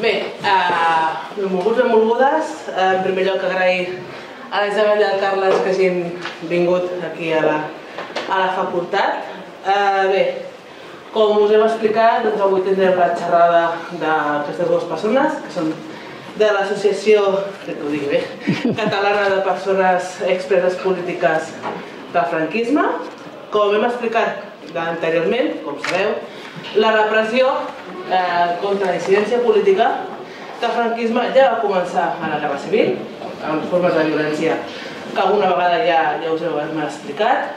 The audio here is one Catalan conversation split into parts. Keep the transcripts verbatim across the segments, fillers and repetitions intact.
Bé, benvolguts i benvolgudes. En primer lloc, agrair a la Isabel i al Carles que hagin vingut aquí a la facultat. Bé, com us hem explicat, avui tindrem la xerrada d'aquestes dues persones, que són de l'Associació Catalana de Persones Expreses Polítiques del Franquisme. Com hem explicat anteriorment, com sabeu, la repressió contra la dissidència política del franquisme ja va començar a la Guerra Civil, amb formes de violència que alguna vegada ja us hem explicat.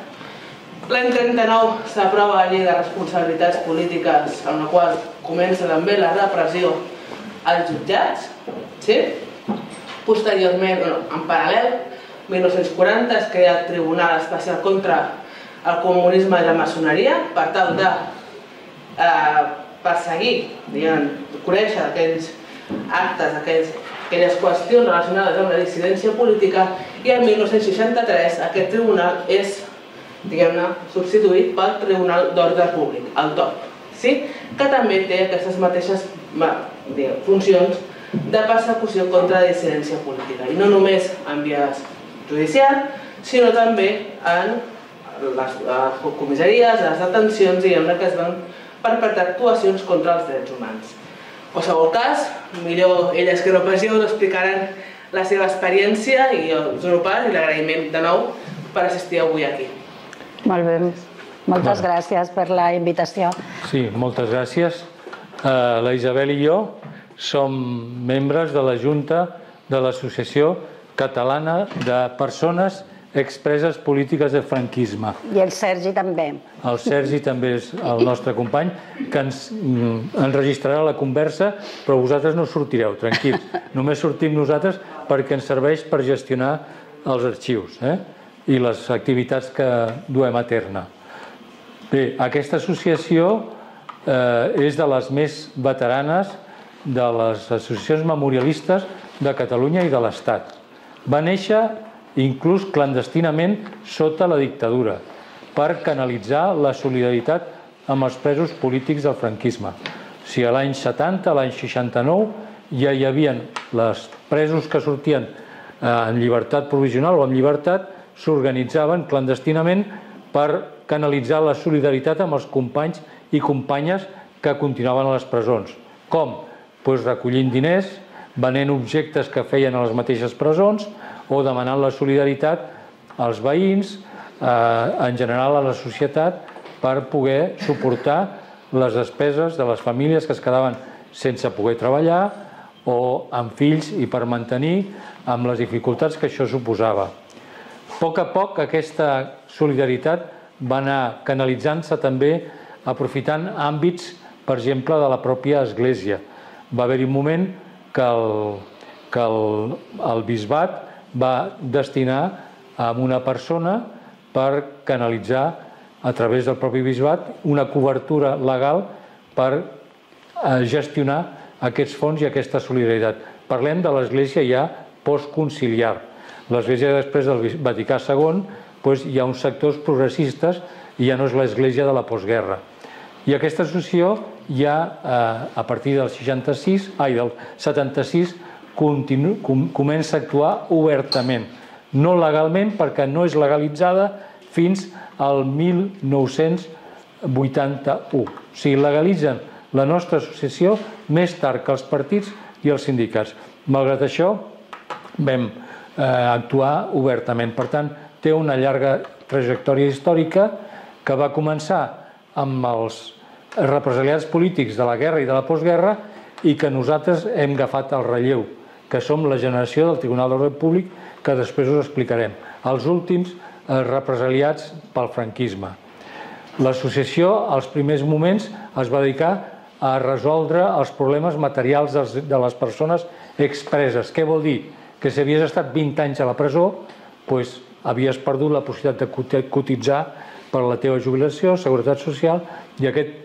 L'any trenta-nou s'aprova la Llei de Responsabilitats Polítiques, en la qual comença també la repressió als jutjats. Posteriorment, en paral·lel, mil nou-cents quaranta es crea el Tribunal Especial contra el Comunisme i la Maçoneria per tal de perseguir, conèixer aquells actes, aquelles qüestions relacionades amb la dissidència política, i el mil nou-cents seixanta-tres aquest tribunal és substituït pel Tribunal d'Ordre Públic, el T O P, que també té aquestes mateixes funcions de persecució contra la dissidència política, i no només en vies judicials, sinó també en les comissaries, les detencions, i en les que es van perpetrar actuacions contra els drets humans. En qualsevol cas, millor elles que no pas jo us explicaran la seva experiència, i el seu pas i l'agraïment de nou per assistir avui aquí. Molt bé, moltes gràcies per la invitació. Sí, moltes gràcies. La Isabel i jo som membres de la Junta de l'Associació Catalana de Persones Expreses Polítiques del Franquisme. I el Sergi també. El Sergi també és el nostre company, que ens enregistrarà la conversa, però vosaltres no sortireu, tranquils. Només sortim nosaltres perquè ens serveix per gestionar els arxius i les activitats que duem a terme. Bé, aquesta associació és de les més veteranes de les associacions memorialistes de Catalunya i de l'Estat. Va néixer inclús clandestinament sota la dictadura, per canalitzar la solidaritat amb els presos polítics del franquisme. Si a l'any setanta, a l'any seixanta-nou, ja hi havia els presos que sortien en llibertat provisional o en llibertat, s'organitzaven clandestinament per canalitzar la solidaritat amb els companys i companyes que continuaven a les presons. Com? Doncs recollint diners, venent objectes que feien a les mateixes presons, o demanant la solidaritat als veïns, en general a la societat, per poder suportar les despeses de les famílies que es quedaven sense poder treballar o amb fills, i per mantenir amb les dificultats que això suposava. A poc a poc aquesta solidaritat va anar canalitzant-se també aprofitant àmbits, per exemple, de la pròpia Església. Va haver-hi un moment que el bisbat va destinar a una persona per canalitzar a través del propi bisbat una cobertura legal per gestionar aquests fons i aquesta solidaritat. Parlem de l'Església ja postconciliar. L'Església després del Vaticà segon hi ha uns sectors progressistes i ja no és l'Església de la postguerra. I aquesta associació ja a partir del seixanta-sis, ai, del setanta-sis, comença a actuar obertament, no legalment perquè no és legalitzada fins al mil nou-cents vuitanta-u. O sigui, legalitzen la nostra associació més tard que els partits i els sindicats. Malgrat això, vam actuar obertament. Per tant, té una llarga trajectòria històrica que va començar amb els represaliats polítics de la guerra i de la postguerra, i que nosaltres hem agafat el relleu, que som la generació del Tribunal d'Ordre Públic, que després us explicarem. Els últims represaliats pel franquisme. L'associació, als primers moments, es va dedicar a resoldre els problemes materials de les persones expreses. Què vol dir? Que si havies estat vint anys a la presó, doncs havies perdut la possibilitat de cotitzar per la teva jubilació, seguretat social, i aquest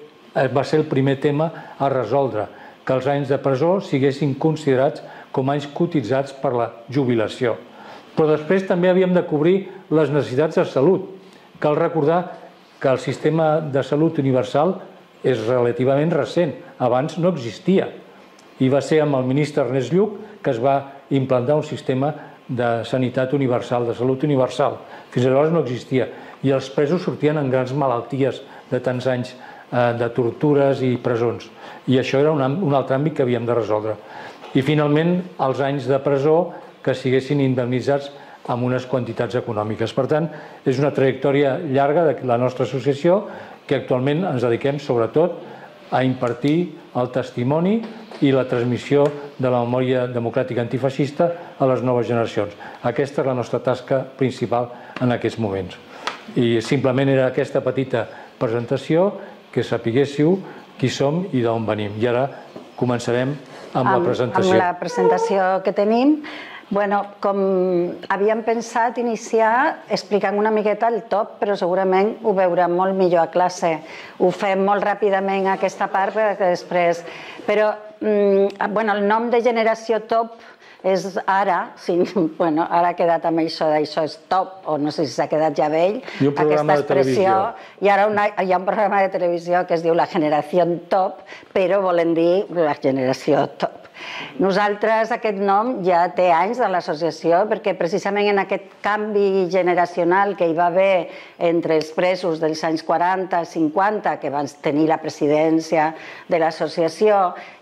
va ser el primer tema a resoldre, que els anys de presó siguessin considerats com anys cotitzats per la jubilació. Però després també havíem de cobrir les necessitats de salut. Cal recordar que el sistema de salut universal és relativament recent, abans no existia. I va ser amb el ministre Ernest Lluch que es va implantar un sistema de sanitat universal, de salut universal. Fins llavors no existia. I els presos sortien amb grans malalties de tants anys de tortures i presons. I això era un altre àmbit que havíem de resoldre. I finalment, els anys de presó que siguessin indemnitzats amb unes quantitats econòmiques. Per tant, és una trajectòria llarga de la nostra associació que actualment ens dediquem sobretot a impartir el testimoni i la transmissió de la memòria democràtica antifeixista a les noves generacions. Aquesta és la nostra tasca principal en aquests moments. I simplement era aquesta petita presentació que sapiguéssiu qui som i d'on venim. I ara començarem amb la presentació. Amb la presentació que tenim. Bueno, com havíem pensat iniciar explicant una miqueta el top, però segurament ho veurem molt millor a classe. Ho fem molt ràpidament aquesta part perquè després... Però, bueno, el nom de generació top és ara, bueno, ara ha quedat amb això d'això és top, o no sé si s'ha quedat ja vell, aquesta expressió, i ara hi ha un programa de televisió que es diu la generació top, però volen dir la generació top. Nosaltres, aquest nom ja té anys de l'associació perquè precisament en aquest canvi generacional que hi va haver entre els presos dels anys quaranta cinquanta que van tenir la presidència de l'associació,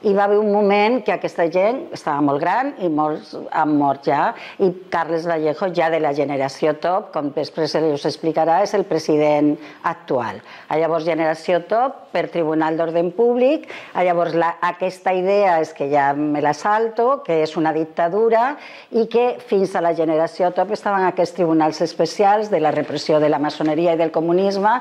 hi va haver un moment que aquesta gent estava molt gran i molts han mort ja, i Carles Vallejo, ja de la generació top, com després us explicarà, és el president actual. Llavors, generació top per Tribunal d'Ordre Públic. Llavors, aquesta idea és que ja me la salto, que és una dictadura i que fins a la generació top estaven aquests tribunals especials de la repressió de la maçoneria i del comunisme,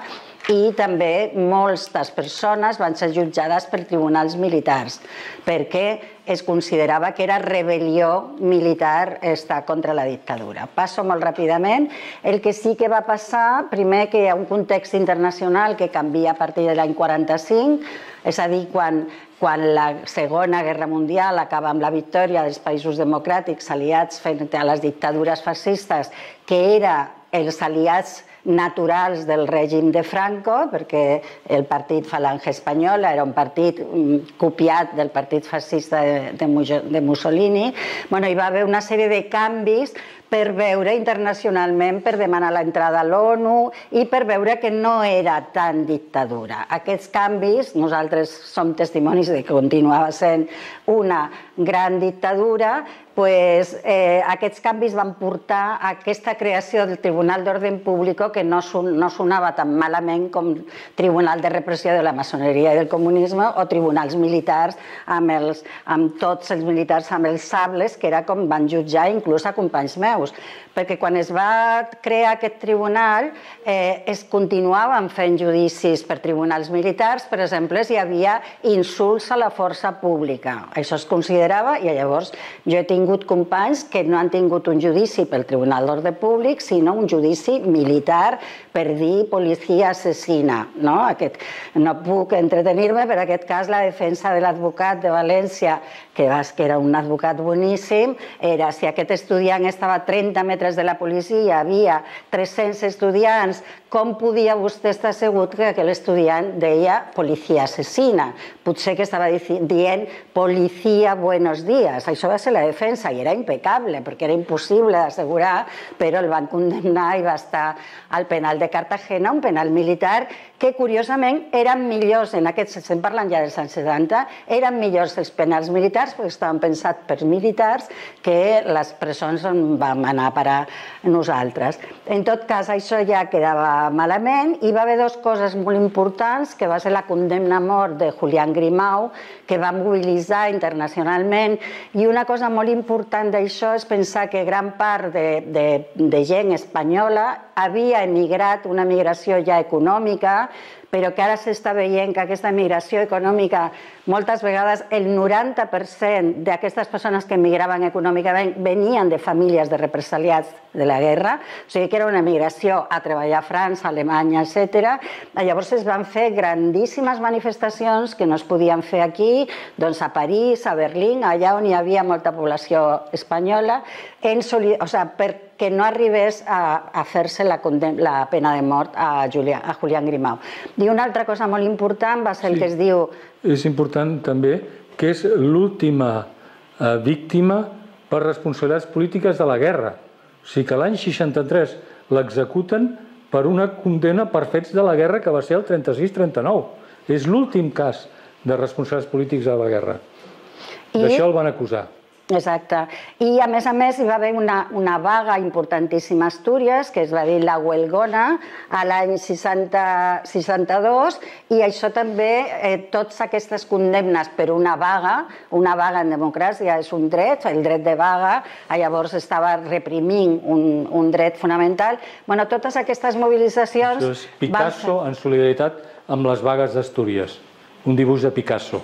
i també moltes persones van ser jutjades per tribunals militars perquè es considerava que era rebel·lió militar estar contra la dictadura. Passo molt ràpidament. El que sí que va passar, primer que hi ha un context internacional que canvia a partir de l'any quaranta-cinc, és a dir, quan quan la Segona Guerra Mundial acaba amb la victòria dels països democràtics aliats front a les dictadures fascistes, que eren els aliats naturals del règim de Franco, perquè el partit Falange Espanyola era un partit copiat del partit fascista de Mussolini. Hi va haver una sèrie de canvis per veure internacionalment, per demanar l'entrada a l'ONU i per veure que no era tan dictadura. Aquests canvis, nosaltres som testimonis de que continuava sent una gran dictadura, aquests canvis van portar a aquesta creació del Tribunal d'Ordre Públic que no sonava tan malament com Tribunal de Repressió de la Maçoneria i del Comunisme o tribunals militars amb tots els militars amb els sables, que era com van jutjar inclús a companys meus. Perquè quan es va crear aquest tribunal es continuaven fent judicis per tribunals militars, per exemple, si hi havia insults a la força pública. Això es considerava, i llavors jo he tingut companys que no han tingut un judici pel Tribunal d'Ordre Públic, sinó un judici militar per dir policia assassina. No puc entretenir-me, per aquest cas la defensa de l'advocat de València, que era un advocat boníssim, era si aquest estudiant estava a trenta metres de la policia, hi havia tres-cents estudiants, com podia vostè estar segur que aquell estudiant deia policia assassina? Potser que estava dient policia buenos días. Això va ser la defensa i era impecable perquè era impossible d'assegurar, però el van condemnar i va estar al penal de Cartagena, un penal militar que curiosament eren millors, en aquests, estem parlant ja dels anys setanta, eren millors els penals militars perquè estaven pensats per militars que les presons on vam anar a parar nosaltres. En tot cas, això ja quedava malament i va haver dues coses molt importants, que va ser la condemna a mort de Julián Grimau, que va mobilitzar internacionalment, i una cosa molt important d'això és pensar que gran part de gent espanyola havia emigrat, una migració ja econòmica, però que ara s'està veient que aquesta migració econòmica, moltes vegades el noranta per cent d'aquestes persones que emigraven econòmicament venien de famílies de represaliats de la guerra, o sigui que era una migració a treballar a França, Alemanya, etcètera. Llavors es van fer grandíssimes manifestacions que no es podien fer aquí, doncs a París, a Berlín, allà on hi havia molta població espanyola, perquè no arribés a fer-se la pena de mort a Julián Grimau. I una altra cosa molt important va ser el que es diu... És important també que és l'última víctima per responsabilitats polítiques de la guerra. O sigui que l'any seixanta-tres l'executen per una condemna per fets de la guerra que va ser el trenta-sis trenta-nou. És l'últim cas de responsables polítics de la guerra. D'això el van acusar. Exacte. I, a més a més, hi va haver una vaga importantíssima a Astúries, que es va dir la Huelgona, a l'any seixanta-dos, i això també, totes aquestes condemnes per una vaga, una vaga en democràcia és un dret, el dret de vaga, llavors estava reprimint un dret fonamental. Bueno, totes aquestes mobilitzacions... Això és Picasso en solidaritat amb les vagues d'Astúries, un dibuix de Picasso.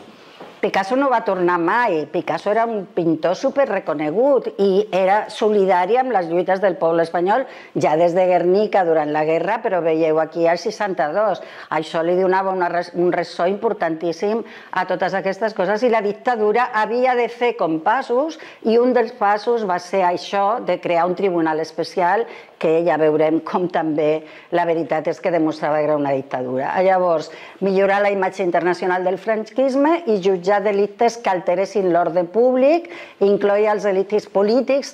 Picasso no va tornar mai. Picasso era un pintor superreconegut i era solidari amb les lluites del poble espanyol ja des de Guernica durant la guerra, però veieu aquí al seixanta-dos. Això li donava un ressò importantíssim a totes aquestes coses i la dictadura havia de fer com passos i un dels passos va ser això de crear un tribunal especial que ja veurem com també la veritat és que demostrava que era una dictadura. Llavors, millorar la imatge internacional del franquisme i jutjar delictes que alteressin l'ordre públic, incloïa els delictes polítics.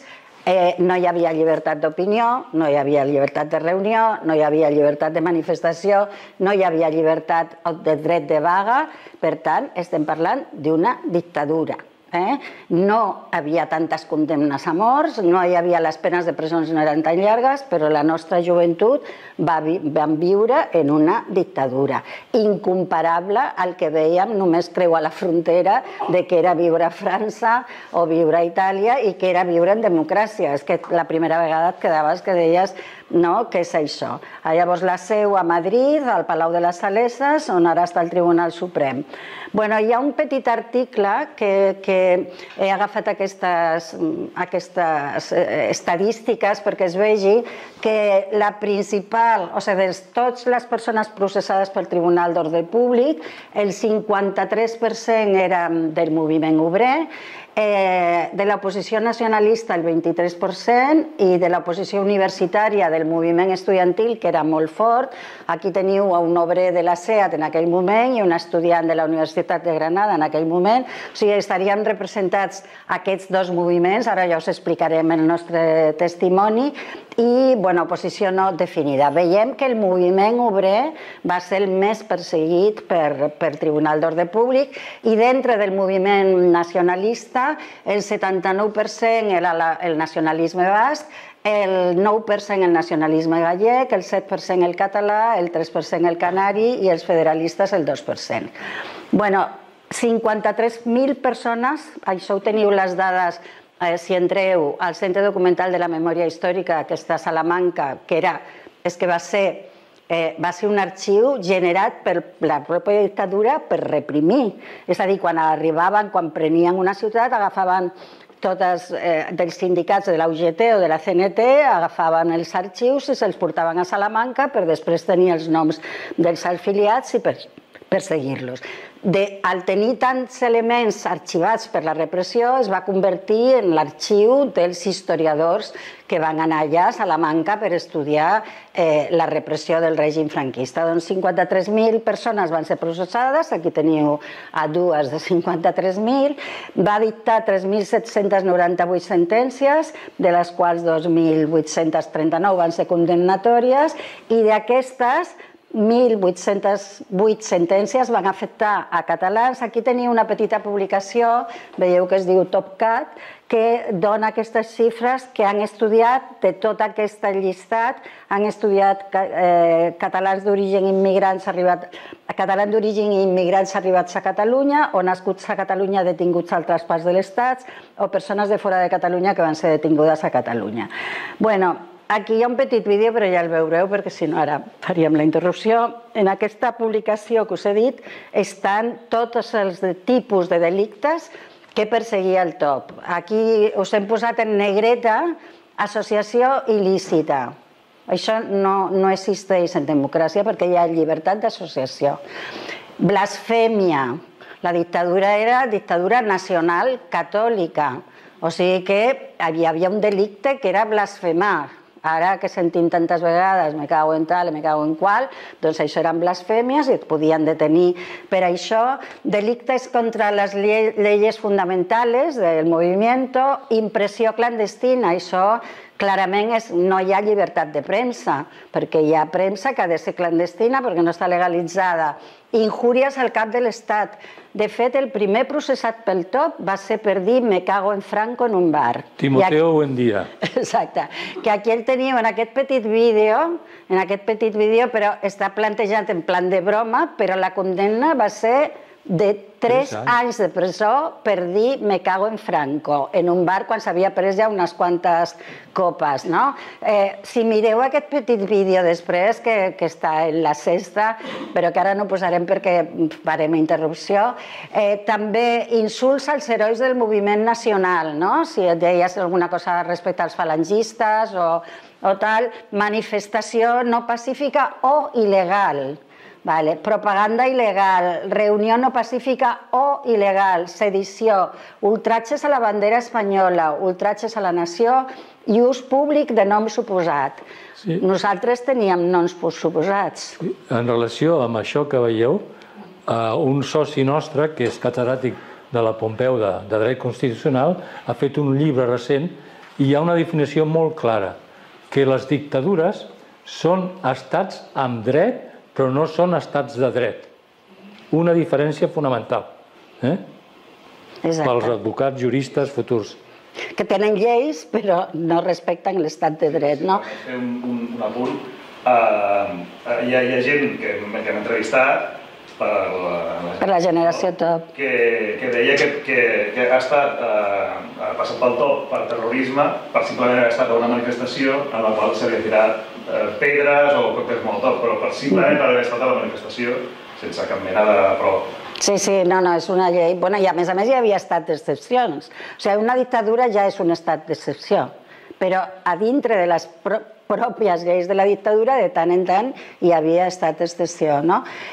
No hi havia llibertat d'opinió, no hi havia llibertat de reunió, no hi havia llibertat de manifestació, no hi havia llibertat de dret de vaga. Per tant, estem parlant d'una dictadura. No havia tantes condemnes a morts, no hi havia, les penes de presons no eren tan llargues, però la nostra joventut vam viure en una dictadura incomparable al que veiem només creuar la frontera de que era viure a França o viure a Itàlia i que era viure en democràcia. És que la primera vegada et quedaves que deies no, què és això? Llavors la seu a Madrid, al Palau de les Saleses, on ara està el Tribunal Suprem. Bueno, hi ha un petit article que he agafat aquestes estadístiques perquè es vegi que la principal, o sigui, de totes les persones processades pel Tribunal d'Ordre Públic, el cinquanta-tres per cent eren del moviment obrer, de l'oposició nacionalista el vint-i-tres per cent i de l'oposició universitària del moviment estudiantil, que era molt fort. Aquí teniu un obrer de la SEAT en aquell moment i un estudiant de la Universitat de Granada en aquell moment. O sigui, estaríem representats aquests dos moviments, ara ja us explicarem el nostre testimoni, i, bueno, oposició no definida. Veiem que el moviment obrer va ser el més perseguit per Tribunal d'Ordre Públic i dintre del moviment nacionalista el setanta-nou per cent era el nacionalisme basc, el nou per cent el nacionalisme gallec, el set per cent el català, el tres per cent el canari i els federalistes el dos per cent. Bueno, cinquanta-tres mil persones, això ho teniu les dades si entreu al Centre Documental de la Memòria Històrica, que està a Salamanca, que va ser va ser un arxiu generat per la pròpia dictadura per reprimir. És a dir, quan arribaven, quan prenien una ciutat, agafaven tots dels sindicats de la U G T o de la C N T, agafaven els arxius i se'ls portaven a Salamanca per després tenir els noms dels afiliats i perseguir-los. Al tenir tants elements arxivats per la repressió, es va convertir en l'arxiu dels historiadors que van anar allà a Salamanca per estudiar la repressió del règim franquista. Doncs cinquanta-tres mil persones van ser processades, aquí teniu a dues de cinquanta-tres mil, va dictar tres mil set-cents noranta-vuit sentències, de les quals dos mil vuit-cents trenta-nou van ser condemnatòries, i d'aquestes mil vuit-cents vuit sentències van afectar a catalans. Aquí teniu una petita publicació, veieu que es diu TopCat, que dona aquestes xifres que han estudiat de tot aquest llistat, han estudiat catalans d'origen immigrants catalans d'origen i immigrants arribats a Catalunya o nascuts a Catalunya detinguts a altres parts de l'Estat o persones de fora de Catalunya que van ser detingudes a Catalunya. Bueno, aquí hi ha un petit vídeo, però ja el veureu, perquè si no ara faríem la interrupció. En aquesta publicació que us he dit estan tots els tipus de delictes que perseguia el T O P. Aquí us hem posat en negreta associació il·lícita. Això no existeix en democràcia perquè hi ha llibertat d'associació. Blasfèmia. La dictadura era dictadura nacional catòlica. O sigui que hi havia un delicte que era blasfemar. Ara que sentim tantes vegades me cago en tal, me cago en qual, doncs això eren blasfèmies i et podien detenir per això. Delictes contra les leyes fundamentales del movimiento, impressió clandestina, això clarament és, no hi ha llibertat de premsa, perquè hi ha premsa que ha de ser clandestina perquè no està legalitzada. Injúries al cap de l'Estat. De fet, el primer processat pel T O P va ser per dir me cago en Franco en un bar. Timoteo Buendía. Exacte. Que aquí el tenim en aquest petit vídeo, en aquest petit vídeo, però està plantejat en plan de broma, però la condemna va ser de tres anys de presó per dir me cago en Franco en un bar quan s'havia pres ja unes quantes copes. Si mireu aquest petit vídeo després, que està en la sexta, però que ara no posarem perquè farem interrupció, també insults als herois del moviment nacional, si et deies alguna cosa respecte als falangistes o tal, manifestació no pacífica o il·legal. Propaganda il·legal, reunió no pacífica o il·legal, sedició, ultratges a la bandera espanyola, ultratges a la nació i ús públic de nom suposat. Nosaltres teníem noms suposats. En relació amb això que veieu, un soci nostre, que és catedràtic de la Pompeu de Dret Constitucional, ha fet un llibre recent i hi ha una definició molt clara, que les dictadures són estats amb dret però no són estats de dret. Una diferència fonamental pels advocats, juristes futurs. Que tenen lleis però no respecten l'estat de dret. Fer un apunt. Hi ha gent que hem entrevistat per la generació T O P que deia que ha estat passat pel T O P per terrorisme per simplement haver estat a una manifestació en la qual s'havia tirat pedres o còctels Molotov, però per simplement per haver estat a la manifestació sense cap mena de prova. Sí, sí, no, no, és una llei. I a més a més hi havia estat d'excepcions. O sigui, una dictadura ja és un estat d'excepció, però a dintre de les pròpies lleis de la dictadura, de tant en tant, hi havia estat d'excepció.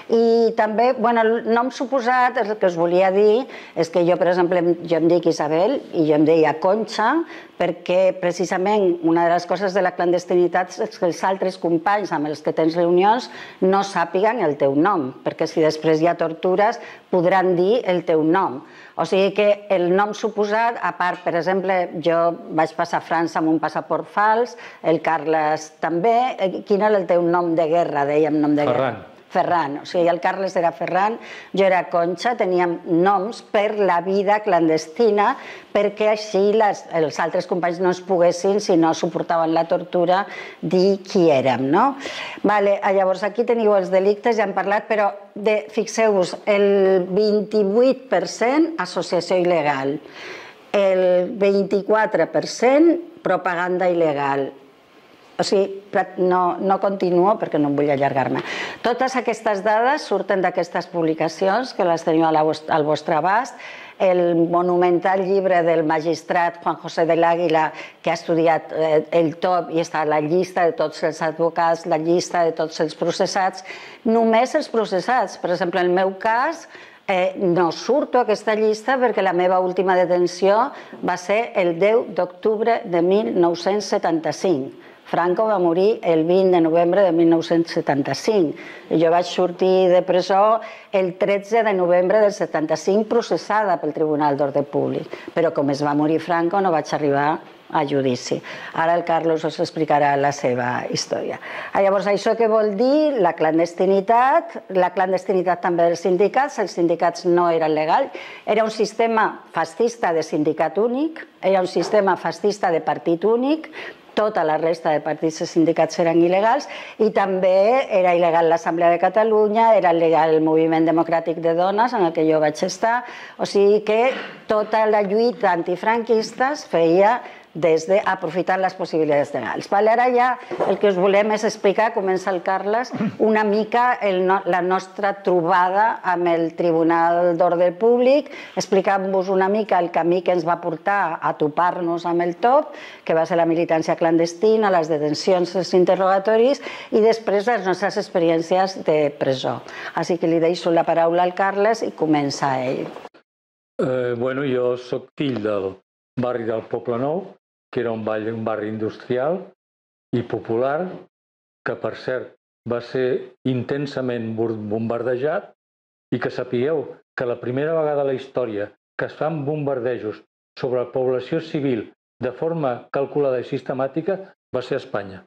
I també, bueno, el nom suposat, el que us volia dir, és que jo, per exemple, jo em dic Isabel i jo em deia Conxa, perquè precisament una de les coses de la clandestinitat és que els altres companys amb els que tens reunions no sàpiguen el teu nom, perquè si després hi ha tortures podran dir el teu nom. O sigui que el nom suposat, a part, per exemple, jo vaig passar a França amb un passaport fals, el Carles també. Quin era el teu nom de guerra, dèiem nom de guerra? Ferran. Ferran, o sigui, el Carles era Ferran, jo era Conxa, teníem noms per la vida clandestina perquè així els altres companys no es poguessin, si no suportaven la tortura, dir qui érem. Llavors aquí teniu els delictes, ja hem parlat, però fixeu-vos, el vint-i-vuit per cent associació il·legal, el vint-i-quatre per cent propaganda il·legal. O sigui, no continuo perquè no em vull allargar-me. Totes aquestes dades surten d'aquestes publicacions que les teniu al vostre abast. El monumental llibre del magistrat Juan José del Águila, que ha estudiat el T O P i està a la llista de tots els advocats, la llista de tots els processats, només els processats. Per exemple, en el meu cas, no surto a aquesta llista perquè la meva última detenció va ser el deu d'octubre de mil nou-cents setanta-cinc. Franco va morir el vint de novembre de mil nou-cents setanta-cinc. Jo vaig sortir de presó el tretze de novembre del setanta-cinc processada pel Tribunal d'Ordre Públic. Però com es va morir Franco no vaig arribar a judici. Ara el Carlos us explicarà la seva història. Llavors, això què vol dir? La clandestinitat, la clandestinitat també dels sindicats, els sindicats no eren legals, era un sistema fascista de sindicat únic, era un sistema fascista de partit únic, tota la resta de partits i sindicats eren il·legals i també era il·legal l'Assemblea de Catalunya, era il·legal el Moviment Democràtic de Dones en el que jo vaig estar, o sigui que tota la lluita antifranquista es feia des d'aprofitar les possibilitats legals. Ara ja el que us volem és explicar, comença el Carles, una mica la nostra trobada amb el Tribunal d'Ordre Públic, explicant-vos una mica el camí que ens va portar a topar-nos amb el T O P, que va ser la militància clandestina, les detencions, els interrogatoris i després les nostres experiències de presó. Així que li deixo la paraula al Carles i comença ell. Bueno, jo soc fill del barri del Poble Nou, que era un barri industrial, i popular, que per cert va ser intensament bombardejat, i que sapigueu que la primera vegada a la història que es fan bombardejos sobre la població civil de forma calculada i sistemàtica va ser a Espanya.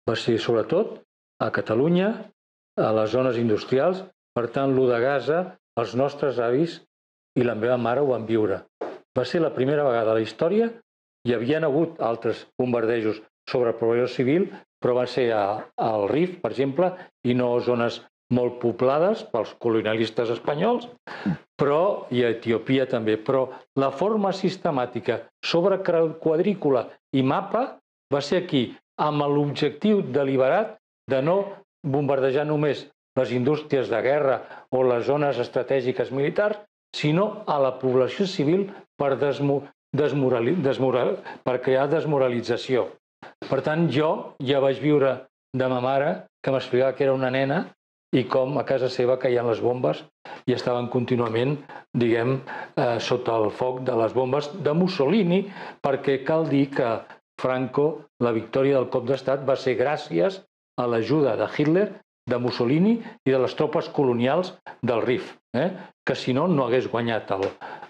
Va ser sobretot a Catalunya, a les zones industrials. Per tant, l'u de Gaza, els nostres avis i la meva mare ho van viure. Va ser la primera vegada a la història. Hi havien hagut altres bombardejos sobre la població civil, però va ser al Rif, per exemple, i no zones molt poblades pels colonialistes espanyols, però i a Etiòpia també. Però la forma sistemàtica sobre quadrícula i mapa va ser aquí, amb l'objectiu deliberat de no bombardejar només les indústries de guerra o les zones estratègiques militars, sinó a la població civil per, per crear desmoralització. Per tant, jo ja vaig viure de ma mare, que m'explicava que era una nena, i com a casa seva caien les bombes i estaven contínuament, diguem, eh, sota el foc de les bombes de Mussolini, perquè cal dir que Franco, la victòria del cop d'estat, va ser gràcies a l'ajuda de Hitler, de Mussolini i de les tropes colonials del Rif, eh? que si no, no hagués guanyat el...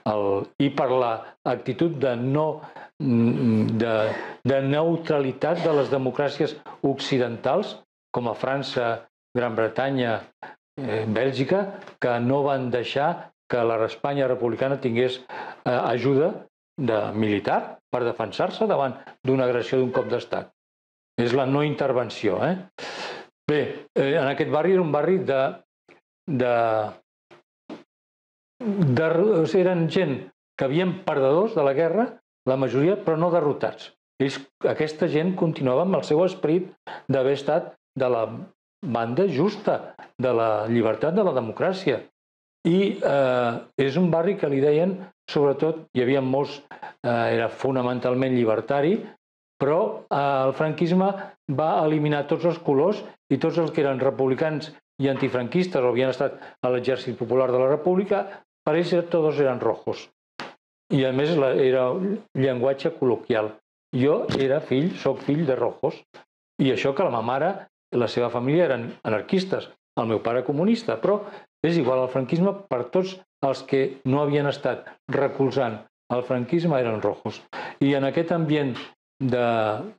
el... I per l'actitud de, no, de, de neutralitat de les democràcies occidentals, com a França, Gran Bretanya, eh, Bèlgica, que no van deixar que l'Espanya republicana tingués eh, ajuda de militar per defensar-se davant d'una agressió d'un cop d'estat. És la no intervenció. Eh? Bé, eh, en aquest barri era un barri de... de, de eren gent que havien perdedors de la guerra, la majoria, però no derrotats. Ells, aquesta gent continuava amb el seu esperit d'haver estat de la banda justa, de la llibertat, de la democràcia. I eh, és un barri que li deien, sobretot, hi havia molts, eh, era fonamentalment llibertari, però eh, el franquisme va eliminar tots els colors i tots els que eren republicans i antifranquistes o havien estat a l'Exèrcit Popular de la República, per ells tots eren rojos. I a més era llenguatge col·loquial. Jo era fill, soc fill de rojos. I això que la meva mare i la seva família eren anarquistes, el meu pare comunista, però és igual, el franquisme per tots els que no havien estat recolzant el franquisme eren rojos. I en aquest ambient de,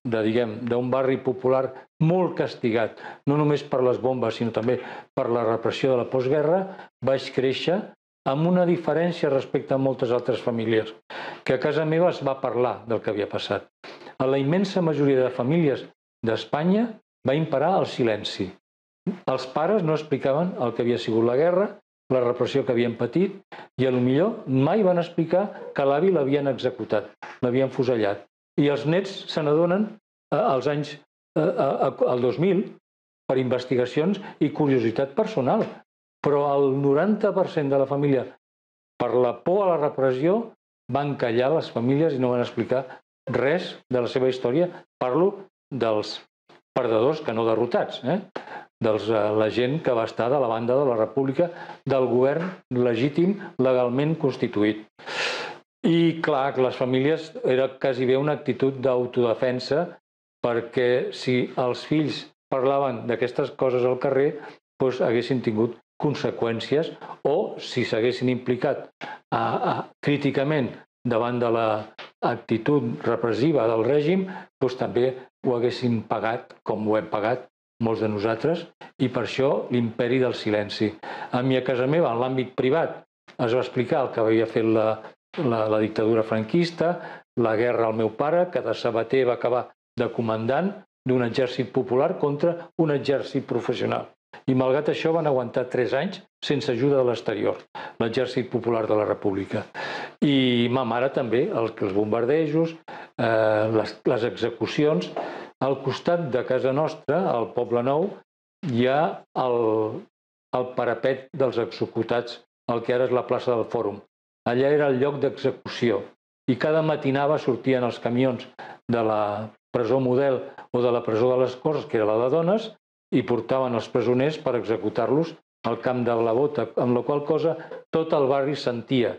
de diguem, d'un barri popular molt castigat, no només per les bombes, sinó també per la repressió de la postguerra, vaig créixer amb una diferència respecte a moltes altres famílies, que a casa meva es va parlar del que havia passat. A la immensa majoria de famílies d'Espanya va imperar el silenci. Els pares no explicaven el que havia sigut la guerra, la repressió que havien patit, i potser mai van explicar que l'avi l'havien executat, l'havien fusellat. I els nets se n'adonen als anys, al dos mil, per investigacions i curiositat personal. Però el noranta per cent de la família, per la por a la repressió, van callar les famílies i no van explicar res de la seva història. Parlo dels perdedors que no derrotats, eh? de la gent que va estar de la banda de la República, del govern legítim legalment constituït. I clar, que les famílies era quasi bé una actitud d'autodefensa, perquè si els fills parlaven d'aquestes coses al carrer, doncs haguessin tingut conseqüències, o si s'haguessin implicat a, a, críticament davant de l'actitud repressiva del règim, doncs també ho haguessin pagat, com ho hem pagat molts de nosaltres, i per això l'imperi del silenci. A mi a casa meva, en l'àmbit privat, es va explicar el que havia fet la, la, la dictadura franquista, la guerra al meu pare, que de sabater va acabar de comandant d'un exèrcit popular contra un exèrcit professional. I malgrat això van aguantar tres anys sense ajuda de l'exterior, l'exèrcit popular de la República. I ma mare també, els, els bombardejos, eh, les, les execucions. Al costat de casa nostra, al Poble Nou, hi ha el, el parapet dels executats, el que ara és la plaça del Fòrum. Allà era el lloc d'execució i cada matinada sortien els camions de la presó Model o de la presó de les Corts, que era la de dones, i portaven els presoners per executar-los al camp de la Bota, amb la qual cosa tot el barri sentia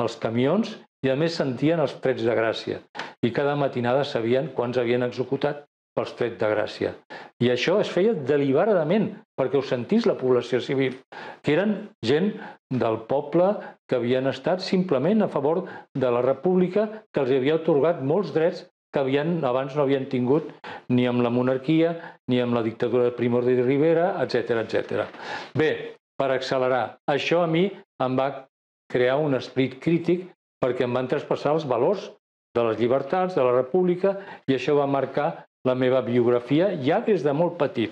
els camions i a més sentien els trets de gràcia. I cada matinada sabien quants havien executat pels trets de gràcia. I això es feia deliberadament, perquè ho sentís la població civil, que eren gent del poble que havien estat simplement a favor de la república, que els havia atorgat molts drets que havien, abans no havien tingut ni amb la monarquia, ni amb la dictadura de Primo de Rivera, etcètera, etcètera. Bé, per accelerar, això a mi em va crear un esperit crític perquè em van traspassar els valors de les llibertats, de la república, i això va marcar la meva biografia ja des de molt petit.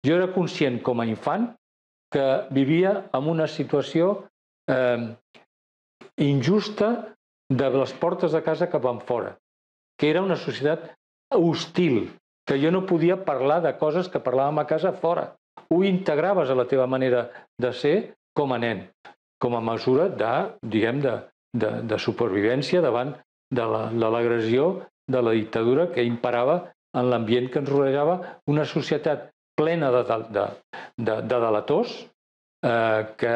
Jo era conscient com a infant que vivia en una situació eh, injusta de les portes de casa cap enfora, que era una societat hostil, que jo no podia parlar de coses que parlàvem a casa fora. Ho integraves a la teva manera de ser com a nen, com a mesura de, diguem, de, de, de supervivència davant de l'agressió de la dictadura que imperava en l'ambient que ens rodejava, una societat plena de, de, de, de delators eh, que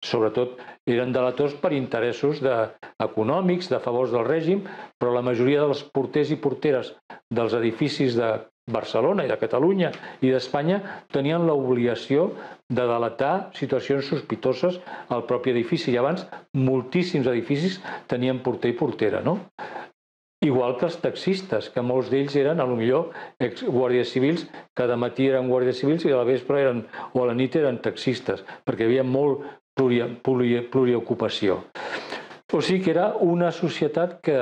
sobretot eren delators per interessos de, econòmics, de favors del règim, però la majoria dels porters i porteres dels edificis de Barcelona i de Catalunya i d'Espanya tenien l'obligació de delatar situacions sospitoses al propi edifici. I abans moltíssims edificis tenien porter i portera, no? Igual que els taxistes, que molts d'ells eren, potser, guàrdies civils, que de matí eren guàrdies civils i a la vespre eren, o a la nit eren taxistes, perquè hi havia molt pluriocupació. O sigui que era una societat que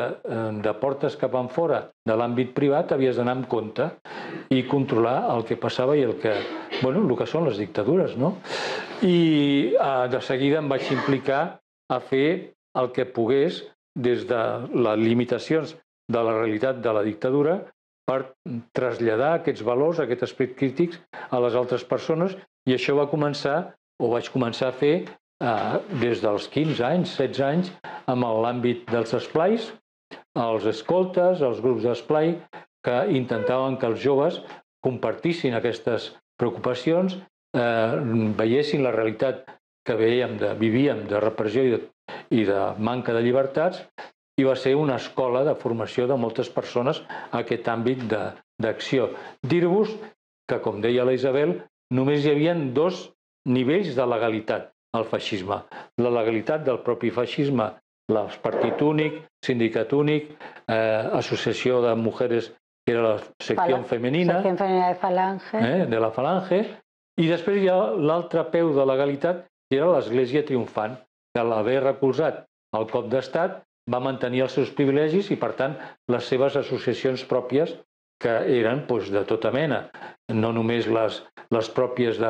de portes cap enfora de l'àmbit privat havies d'anar amb compte i controlar el que passava i el que, bueno, el que són les dictadures, no? I de seguida em vaig implicar a fer el que pogués des de les limitacions de la realitat de la dictadura per traslladar aquests valors, aquest esperit crític a les altres persones, i això va començar, o vaig començar a fer des dels quinze anys, setze anys, amb l'àmbit dels esplais, els escoltes, els grups d'esplai, que intentaven que els joves compartissin aquestes preocupacions, veiessin la realitat que veiem, vivíem de repressió i de manca de llibertats, i va ser una escola de formació de moltes persones a aquest àmbit d'acció. Dir-vos que, com deia la Isabel, només hi havia dos nivells de legalitat al feixisme. La legalitat del propi feixisme, el partit únic, sindicat únic, associació de mujeres, que era la secció femenina de la Falange, i després hi ha l'altre peu de legalitat, que era l'Església Triomfant, que a l'haver recolzat el cop d'estat va mantenir els seus privilegis i, per tant, les seves associacions pròpies, que eren de tota mena, no només les pròpies de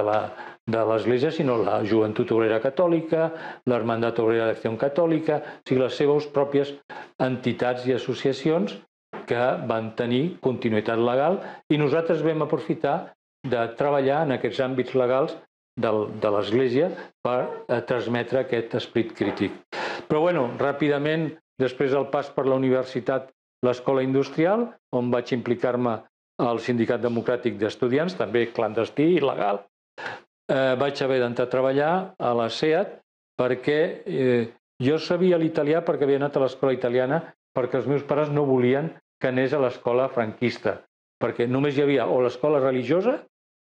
l'Església, sinó la Joventut Obrera Catòlica, l'Hermandat Obrera d'Acció Catòlica, o sigui, les seves pròpies entitats i associacions que van tenir continuïtat legal, i nosaltres vam aprofitar de treballar en aquests àmbits legals de l'Església per transmetre aquest esperit crític. Però, bueno, ràpidament, després del pas per la universitat, l'Escola Industrial, on vaig implicar-me al Sindicat Democràtic d'Estudiants, també clandestí i legal. Vaig haver d'entrar a treballar a la SEAT perquè jo sabia l'italià perquè havia anat a l'escola italiana, perquè els meus pares no volien que anés a l'escola franquista, perquè només hi havia o l'escola religiosa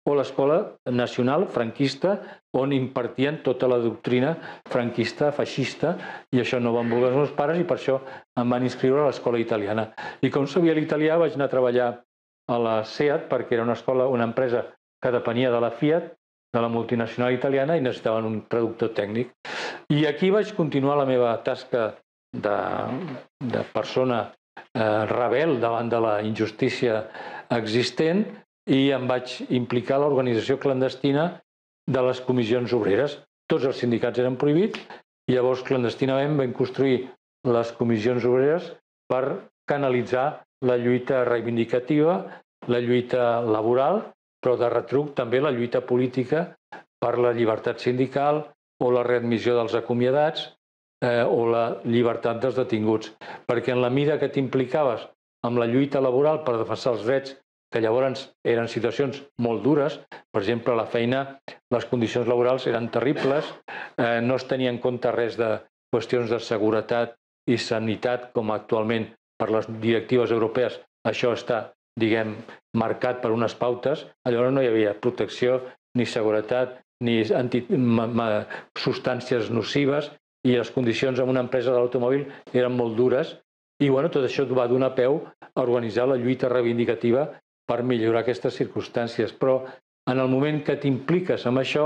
o l'escola nacional franquista, on impartien tota la doctrina franquista, feixista, i això no van voler els meus pares i per això em van inscriure a l'escola italiana. I com sabia l'italià vaig anar a treballar a la SEAT perquè era una escola, una empresa que depenia de la Fiat, de la multinacional italiana, i necessitaven un traductor tècnic. I aquí vaig continuar la meva tasca de persona rebel davant de la injustícia existent, i em vaig implicar a l'organització clandestina de les comissions obreres. Tots els sindicats eren prohibits i llavors clandestinament vam construir les comissions obreres per canalitzar la lluita reivindicativa, la lluita laboral, però de retruc també la lluita política per la llibertat sindical o la readmissió dels acomiadats o la llibertat dels detinguts. Perquè en la mida que t'implicaves amb la lluita laboral per defensar els drets, que llavors eren situacions molt dures, per exemple, la feina, les condicions laborals eren terribles, no es tenia en compte res de qüestions de seguretat i sanitat, com actualment per les directives europees això està diguem, marcat per unes pautes, llavors no hi havia protecció, ni seguretat, ni substàncies nocives, i les condicions en una empresa de l'automòbil eren molt dures, i bueno, tot això va donar peu a organitzar la lluita reivindicativa per millorar aquestes circumstàncies. Però en el moment que t'impliques amb això,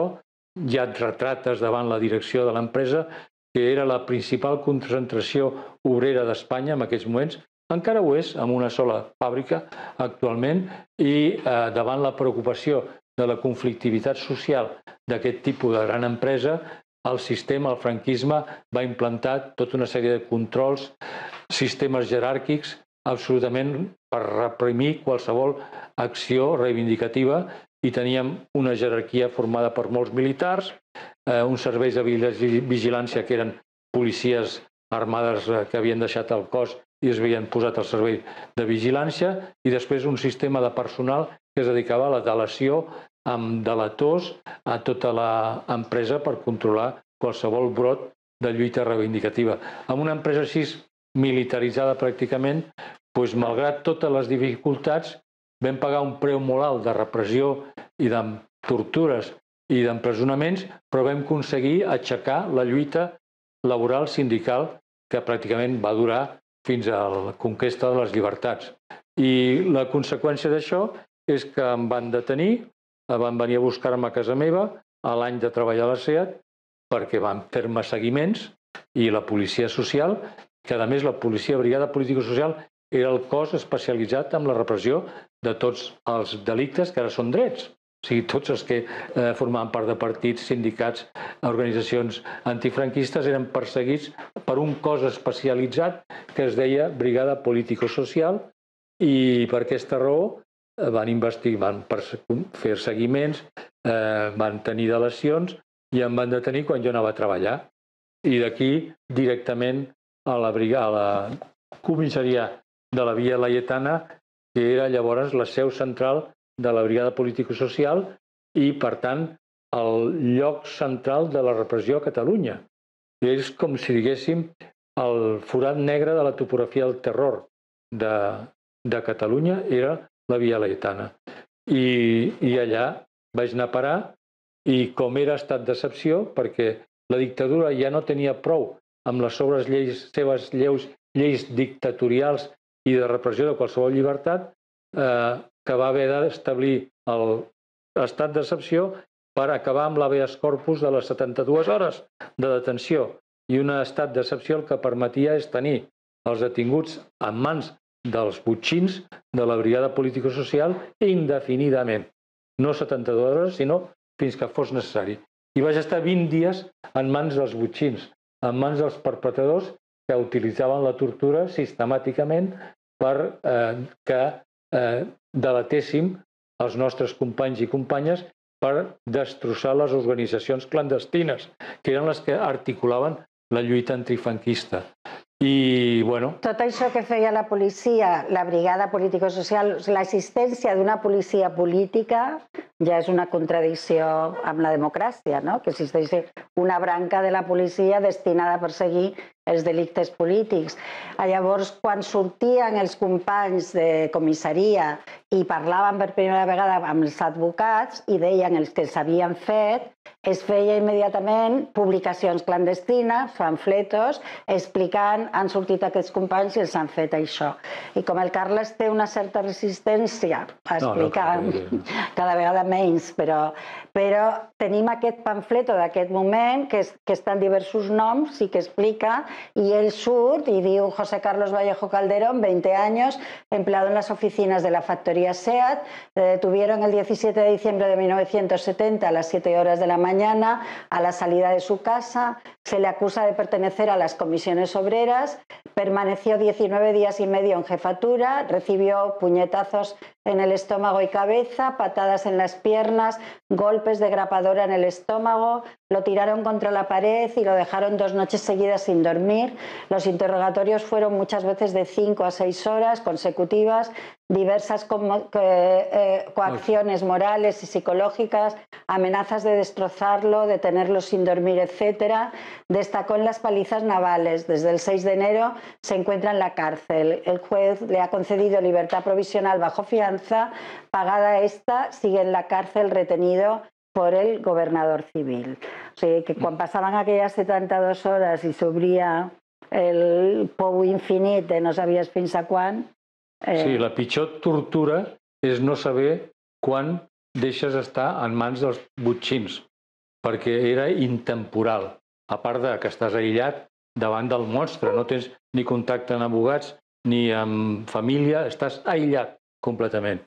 ja et retrates davant la direcció de l'empresa, que era la principal concentració obrera d'Espanya en aquells moments, encara ho és, amb una sola fàbrica actualment, i eh, davant la preocupació de la conflictivitat social d'aquest tipus de gran empresa, el sistema, el franquisme, va implantar tota una sèrie de controls, sistemes jeràrquics, absolutament per reprimir qualsevol acció reivindicativa, i teníem una jerarquia formada per molts militars, eh, uns serveis de vigilància que eren policies armades que havien deixat el cos i es havien posat al servei de vigilància, i després un sistema de personal que es dedicava a la delació amb delators a tota l'empresa per controlar qualsevol brot de lluita reivindicativa. Amb una empresa així militaritzada pràcticament, doncs, malgrat totes les dificultats, vam pagar un preu molt alt de repressió i de tortures i d'empresonaments, però vam aconseguir aixecar la lluita laboral sindical que pràcticament va durar fins a la conquesta de les llibertats. I la conseqüència d'això és que em van detenir, van venir a buscar-me a casa meva a l'any de treballar a la SEAT, perquè van fer-me seguiments, i la policia social, que a més la policia brigada político-social era el cos especialitzat en la repressió de tots els delictes que ara són drets. O sigui, tots els que eh, formaven part de partits, sindicats, organitzacions antifranquistes eren perseguits per un cos especialitzat que es deia Brigada Político-Social, i per aquesta raó van investigar, van fer seguiments, eh, van tenir delacions i em van detenir quan jo anava a treballar. I d'aquí directament a la, brigada, a la comissaria de la Via Laietana, que era llavors la seu central de la Brigada Político-Social i, per tant, el lloc central de la repressió a Catalunya. És com si diguéssim el forat negre de la topografia del terror de, de Catalunya era la Via Laietana. I, I allà vaig anar a parar, i com era estat d'excepció, perquè la dictadura ja no tenia prou amb les seves lleis, seves lleus, lleis dictatorials i de repressió de qualsevol llibertat, eh, que va haver d'establir l'estat d'excepció per acabar amb l'habeas corpus de les setanta-dues hores de detenció. I un estat d'excepció el que permetia és tenir els detinguts en mans dels botxins de la Brigada Político-Social indefinidament. No setanta-dues hores, sinó fins que fos necessari. I vaig estar vint dies en mans dels botxins, en mans dels perpetradors que utilitzaven la tortura sistemàticament per eh, que eh, delatéssim els nostres companys i companyes per destrossar les organitzacions clandestines, que eren les que articulaven la lluita antifranquista. I, bueno... Tot això que feia la policia, la brigada político-social, l'assistència d'una policia política ja és una contradicció amb la democràcia, no? Que existeix una branca de la policia destinada a perseguir els delictes polítics. Llavors, quan sortien els companys de comissaria i parlaven per primera vegada amb els advocats i deien els que s'havien fet, es feia immediatament publicacions clandestines, pamfletos, explicant han sortit aquests companys i els han fet això. I com el Carles té una certa resistència a explicar, no, no, cada vegada menys, però, però tenim aquest pamfleto d'aquest moment que, és, que està en diversos noms i que explica, y él surt y diu José Carlos Vallejo Calderón, veinte años, empleado en las oficinas de la factoría SEAT, le detuvieron el diecisiete de diciembre de mil novecientos setenta a las siete horas de la mañana a la salida de su casa, se le acusa de pertenecer a las comisiones obreras, permaneció diecinueve días y medio en jefatura, recibió puñetazos en el estómago y cabeza, patadas en las piernas, golpes de grapadora en el estómago, lo tiraron contra la pared y lo dejaron dos noches seguidas sin dormir. Los interrogatorios fueron muchas veces de cinco a seis horas consecutivas, diversas como, eh, eh, coacciones morales y psicológicas, amenazas de destrozarlo, de tenerlo sin dormir, etcétera. Destacó en las palizas navales. Desde el seis de enero se encuentra en la cárcel. El juez le ha concedido libertad provisional bajo fianza. Pagada esta, sigue en la cárcel retenido por el gobernador civil. O sigui que quan passaven aquelles setanta-dues hores i s'obria el pou infinit de no sabies fins a quan... Eh... Sí, la pitjor tortura és no saber quan deixes estar en mans dels botxins, perquè era intemporal. A part de que estàs aïllat davant del monstre, no tens ni contacte amb abogats ni amb família, estàs aïllat completament.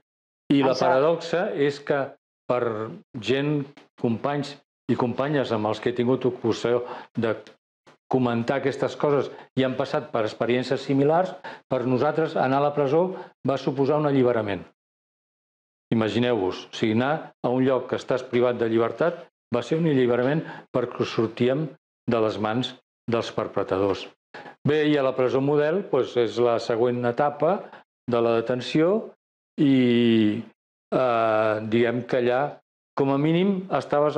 I la paradoxa és que per gent, companys i companyes amb els que he tingut ocasió de comentar aquestes coses i han passat per experiències similars, per nosaltres anar a la presó va suposar un alliberament. Imagineu-vos, o sigui, anar a un lloc que estàs privat de llibertat va ser un alliberament perquè sortíem de les mans dels perpetradors. Bé, i a la presó model és la següent etapa de la detenció i diguem que allà, com a mínim, estaves,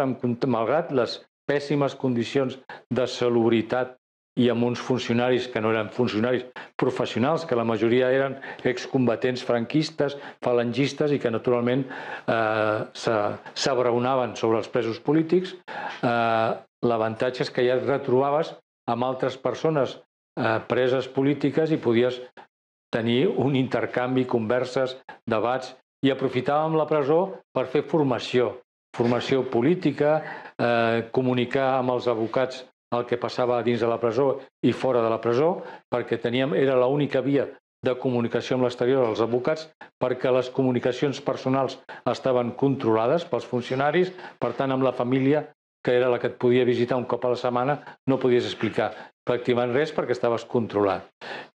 malgrat les pèssimes condicions de salubritat i amb uns funcionaris que no eren funcionaris professionals, que la majoria eren excombatents franquistes, falangistes i que naturalment s'abraonaven sobre els presos polítics, l'avantatge és que ja et retrobaves amb altres persones preses polítiques i podies tenir un intercanvi, converses, debats, i aprofitàvem la presó per fer formació, formació política, comunicar amb els advocats el que passava dins de la presó i fora de la presó, perquè teníem, era l'única via de comunicació amb l'exterior dels advocats, perquè les comunicacions personals estaven controlades pels funcionaris, per tant, amb la família, que era la que et podia visitar un cop a la setmana, no podies explicar pràcticament res perquè estaves controlat.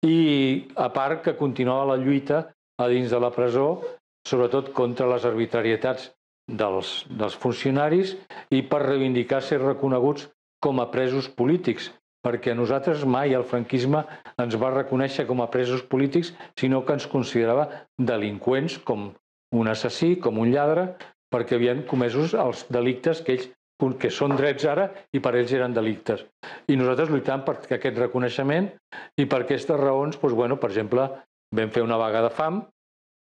I a part que continuava la lluita a dins de la presó, sobretot contra les arbitrarietats dels funcionaris i per reivindicar ser reconeguts com a presos polítics, perquè a nosaltres mai el franquisme ens va reconèixer com a presos polítics, sinó que ens considerava delinqüents, com un assassí, com un lladre, perquè havien comesos els delictes que ells, que són drets ara i per ells eren delictes. I nosaltres lluitàvem per aquest reconeixement i per aquestes raons, per exemple, vam fer una vaga de fam,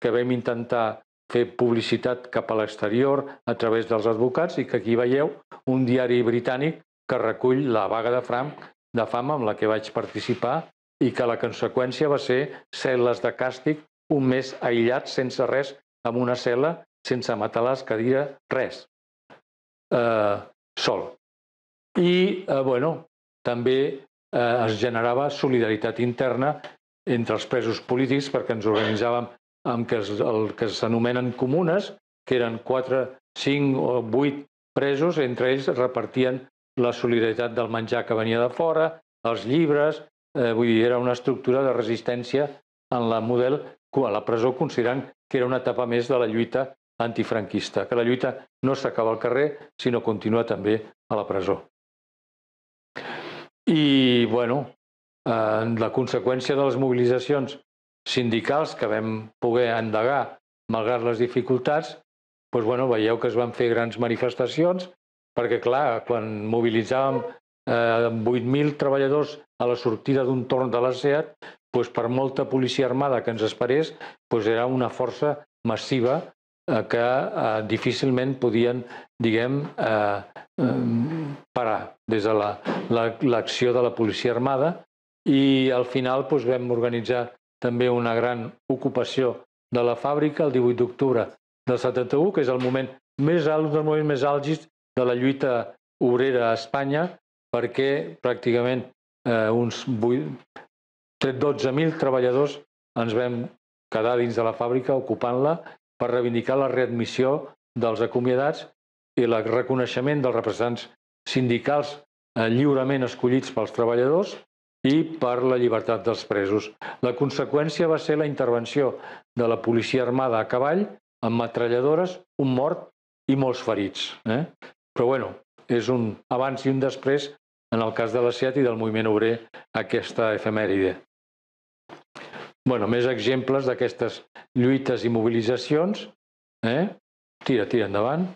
que vam intentar fer publicitat cap a l'exterior a través dels advocats i que aquí veieu un diari britànic que recull la vaga de fam, de fam amb la que vaig participar i que la conseqüència va ser cel·les de càstig, un mes aïllat, sense res, amb una cel·la, sense matalàs, cadira, res. Sol. I, bueno, també es generava solidaritat interna entre els presos polítics perquè ens organitzàvem amb el que s'anomenen comunes, que eren quatre, cinc o vuit presos, entre ells repartien la solidaritat del menjar que venia de fora, els llibres, vull dir, era una estructura de resistència en la model, a la presó, considerant que era una etapa més de la lluita antifranquista, que la lluita no s'acaba al carrer, sinó continua també a la presó. I, bueno, la conseqüència de les mobilitzacions sindicals que vam poder endegar malgrat les dificultats, veieu que es van fer grans manifestacions, perquè, clar, quan mobilitzàvem vuit mil treballadors a la sortida d'un torn de la SEAT, per molta policia armada que ens esperés, era una força massiva que difícilment podien, diguem, parar des de l'acció de la policia armada i al final vam organitzar també una gran ocupació de la fàbrica el divuit d'octubre del setanta-u, que és el moment més alt, un dels moments més àlgids de la lluita obrera a Espanya, perquè pràcticament uns dotze mil treballadors ens vam quedar dins de la fàbrica ocupant-la per reivindicar la readmissió dels acomiadats i el reconeixement dels representants sindicals lliurement escollits pels treballadors i per la llibertat dels presos. La conseqüència va ser la intervenció de la policia armada a cavall amb metralladores, un mort i molts ferits. Eh? Però bueno, és un abans i un després en el cas de la SEAT i del moviment obrer aquesta efemèride. Bueno, més exemples d'aquestes lluites i mobilitzacions. Eh? Tira, tira endavant.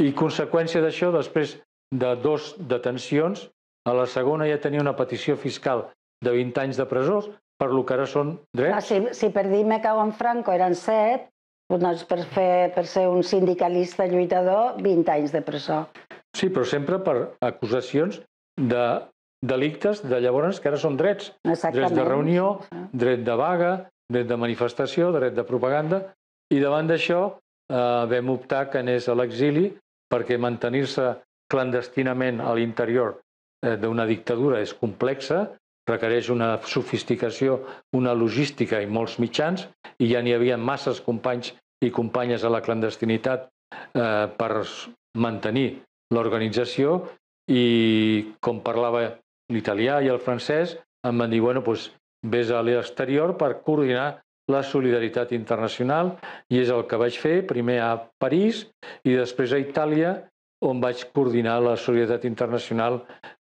I conseqüència d'això, després de dos detencions, a la segona ja tenia una petició fiscal de vint anys de presó, per lo que ara són drets. Si, si per dir me cago en Franco eren set, doncs per, fer, per ser un sindicalista lluitador, vint anys de presó. Sí, però sempre per acusacions de delictes de llavors que ara són drets. Exactament. Drets de reunió, dret de vaga, dret de manifestació, dret de propaganda. I davant d'això eh, vam optar que anés a l'exili perquè mantenir-se clandestinament a l'interior eh, d'una dictadura és complexa, requereix una sofisticació, una logística i molts mitjans, i ja n'hi havia masses companys i companyes a la clandestinitat eh, per mantenir l'organització, i com parlava l'italià i el francès, em van dir, bueno, doncs vés a l'exterior per coordinar la solidaritat internacional, i és el que vaig fer, primer a París i després a Itàlia, on vaig coordinar la solidaritat internacional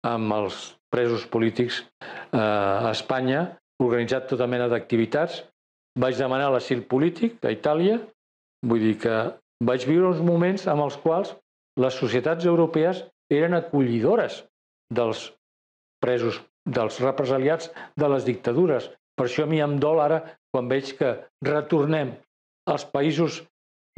amb els presos polítics eh, a Espanya, organitzat tota mena d'activitats. Vaig demanar l'asil polític a Itàlia, vull dir que vaig viure uns moments en els quals les societats europees eren acollidores dels presos, dels represaliats de les dictadures. Per això a mi em dol ara quan veig que retornem als països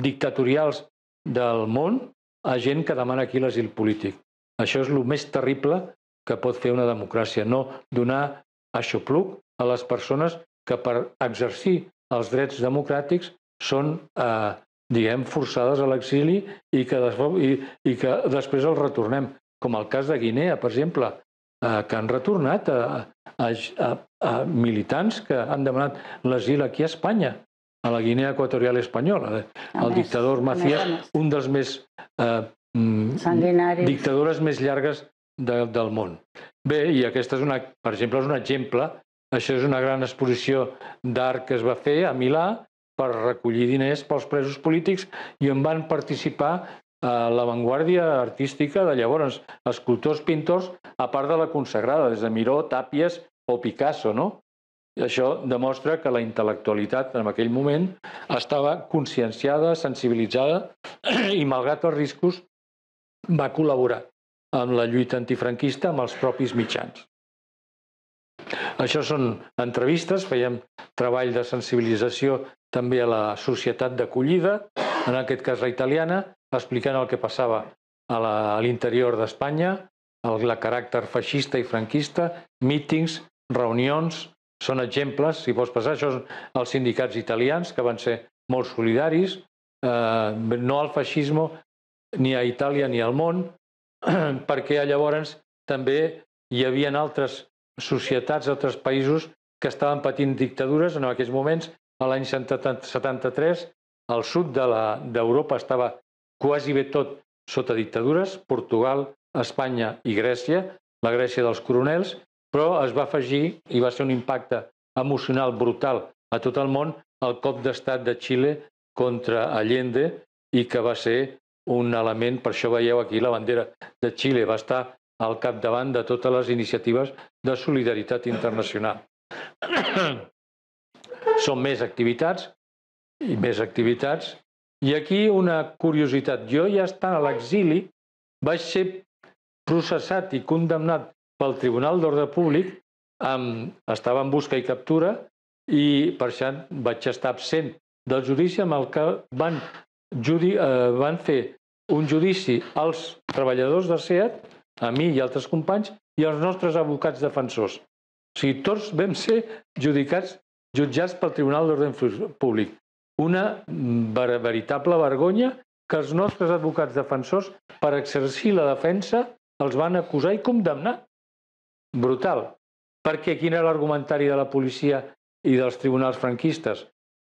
dictatorials del món a gent que demana aquí l'asil polític. Això és el més terrible que pot fer una democràcia, no donar aixopluc a les persones que per exercir els drets democràtics són, eh, diguem, forçades a l'exili i que, i, i que després els retornem. Com el cas de Guinea, per exemple, eh, que han retornat a, a, a, a militants que han demanat l'asil aquí a Espanya, a la Guinea Equatorial Espanyola. El dictador Macías, un dels més eh, dictadures més llargues de, del món. Bé, i aquesta és una, per exemple, és un exemple. Això és una gran exposició d'art que es va fer a Milà per recollir diners pels presos polítics, i on van participar a l'avantguàrdia artística de llavors, escultors, pintors, a part de la consagrada, des de Miró, Tàpies o Picasso, no? I això demostra que la intel·lectualitat en aquell moment estava conscienciada, sensibilitzada, i malgrat els riscos va col·laborar amb la lluita antifranquista amb els propis mitjans. Això són entrevistes, fèiem treball de sensibilització també a la societat d'acollida, en aquest cas la italiana, explicant el que passava a l'interior d'Espanya, el caràcter feixista i franquista, mítings, reunions, són exemples, si vols passar, això són els sindicats italians que van ser molt solidaris, eh, no al feixisme ni a Itàlia ni al món, perquè llavors també hi havia altres societats, altres països que estaven patint dictadures en aquells moments. A l'any setanta-tres, el sud d'Europa estava quasi bé tot sota dictadures, Portugal, Espanya i Grècia, la Grècia dels coronels, però es va afegir, i va ser un impacte emocional brutal a tot el món, el cop d'estat de Xile contra Allende, i que va ser un element, per això veieu aquí la bandera de Xile, va estar al capdavant de totes les iniciatives de solidaritat internacional. Són més activitats i més activitats. I aquí una curiositat. Jo ja estant a l'exili vaig ser processat i condemnat pel Tribunal d'Ordre Públic, estava en busca i captura, i per això vaig estar absent del judici amb el que van, van fer un judici als treballadors de SEAT, a mi i altres companys, i als nostres advocats defensors. O sigui, tots vam ser judicats, jutjats pel Tribunal d'Ordre Públic. Una veritable vergonya que els nostres advocats defensors, per exercir la defensa, els van acusar i condemnar. Brutal. Perquè quin era l'argumentari de la policia i dels tribunals franquistes,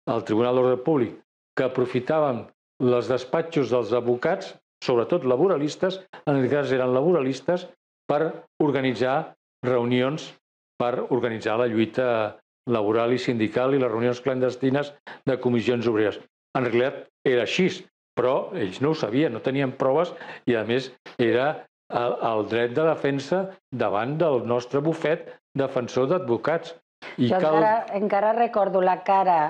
el Tribunal d'Ordre Públic, que aprofitaven els despatxos dels advocats, sobretot laboralistes, en aquest cas eren laboralistes, per organitzar reunions per organitzar la lluita laboral i sindical i les reunions clandestines de comissions obreres. En realitat era així, però ells no ho sabien, no tenien proves i, a més, era el, el dret de defensa davant del nostre bufet defensor d'advocats. Jo cal... encara, encara recordo la cara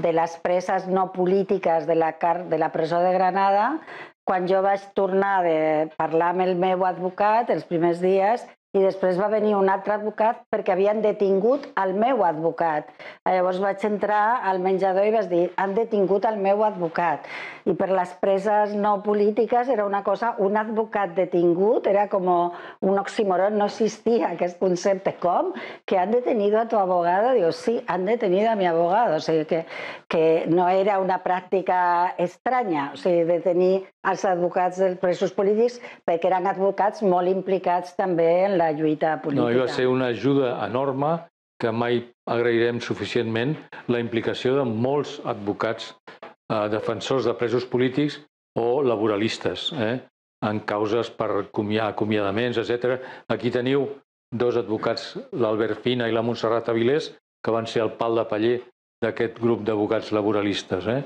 de les preses no polítiques de la, de la presó de Granada quan jo vaig tornar de parlar amb el meu advocat els primers dies i després va venir un altre advocat perquè havien detingut el meu advocat. Llavors vaig entrar al menjador i vaig dir, han detingut el meu advocat. I per les preses no polítiques era una cosa, un advocat detingut, era com un oxímoron, no existia aquest concepte. Com? Que han detenido a tu abogado? Digo, sí, han detenido a mi abogado. O sigui que, que no era una pràctica estranya, o sigui, detenir els advocats dels presos polítics perquè eren advocats molt implicats també en la lluita política. No, i va ser una ajuda enorme que mai agrairem suficientment la implicació de molts advocats eh, defensors de presos polítics o laboralistes eh, en causes per acomiadaments, etcètera. Aquí teniu dos advocats, l'Albert Fina i la Montserrat Avilés, que van ser el pal de paller d'aquest grup d'advocats laboralistes. Eh?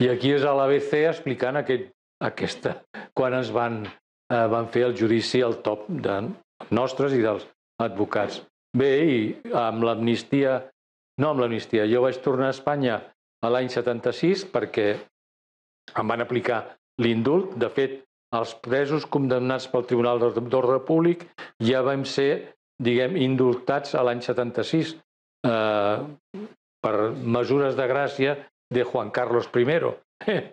I aquí és a l'A B C explicant aquest, aquesta, quan ens van, eh, van fer el judici al top de nostres i dels advocats. Bé, i amb l'amnistia, no amb l'amnistia, jo vaig tornar a Espanya a l'any setanta-sis perquè em van aplicar l'indult. De fet, els presos condemnats pel Tribunal d'Ordre Públic ja vam ser, diguem, indultats a l'any setanta-sis eh, per mesures de gràcia de Juan Carlos primero. Eh,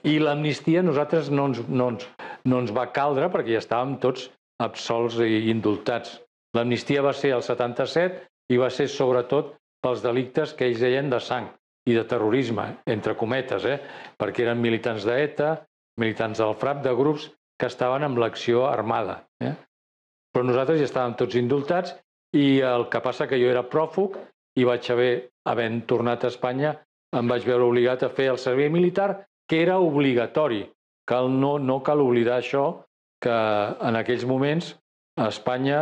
I l'amnistia a nosaltres no ens, no, ens, no ens va caldre perquè ja estàvem tots absolts i indultats. L'amnistia va ser el setanta-set i va ser sobretot pels delictes que ells deien de sang i de terrorisme, entre cometes, eh? perquè eren militants d'ETA, militants del FRAP, de grups que estaven amb l'acció armada. Eh? Però nosaltres ja estàvem tots indultats i el que passa que jo era pròfug i vaig haver, havent tornat a Espanya, em vaig veure obligat a fer el servei militar, que era obligatori. Cal, no, no cal oblidar això, que en aquells moments a Espanya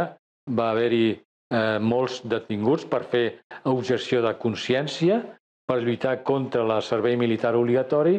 va haver-hi eh, molts detinguts per fer objecció de consciència, per lluitar contra el servei militar obligatori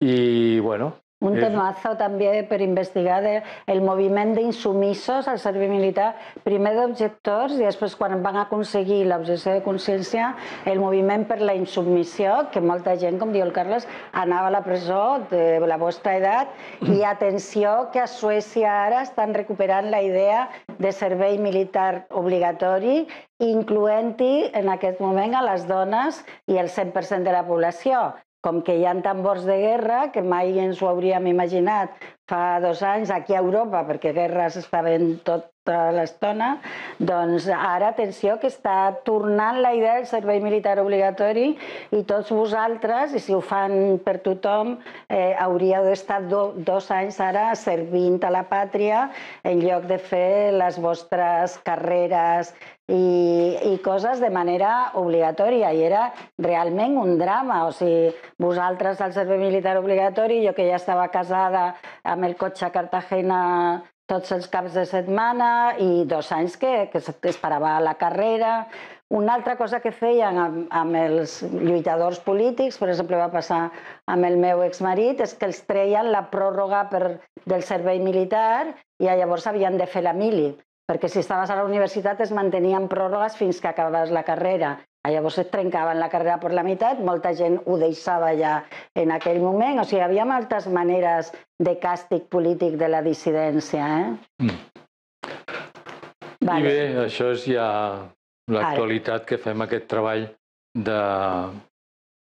i, bueno... Un temazo també per investigar el moviment d'insumissos al servei militar, primer d'objectors i després quan van aconseguir l'objecció de consciència, el moviment per la insubmissió, que molta gent, com diu el Carles, anava a la presó de la vostra edat i atenció que a Suècia ara estan recuperant la idea de servei militar obligatori, incloent-hi en aquest moment a les dones i el cent per cent de la població. Com que hi ha tambors de guerra, que mai ens ho hauríem imaginat fa dos anys aquí a Europa, perquè guerres estaven tota l'estona, doncs ara, atenció, que està tornant la idea del servei militar obligatori i tots vosaltres, i si ho fan per tothom, eh, hauríeu d'estar do, dos anys ara servint a la pàtria en lloc de fer les vostres carreres i, i coses de manera obligatòria. I era realment un drama. O sigui, vosaltres al servei militar obligatori, jo que ja estava casada amb el cotxe a Cartagena tots els caps de setmana i dos anys que, que es parava la carrera. Una altra cosa que feien amb, amb els lluitadors polítics, per exemple va passar amb el meu exmarit, és que els treien la pròrroga per, del servei militar i llavors havien de fer la mili, perquè si estaves a la universitat es mantenien pròrrogues fins que acabaves la carrera. Llavors es trencaven la carrera per la meitat, molta gent ho deixava ja en aquell moment. O sigui, hi havia moltes maneres de càstig polític de la dissidència. Eh? Mm. Vale. I bé, això és ja l'actualitat que fem aquest treball de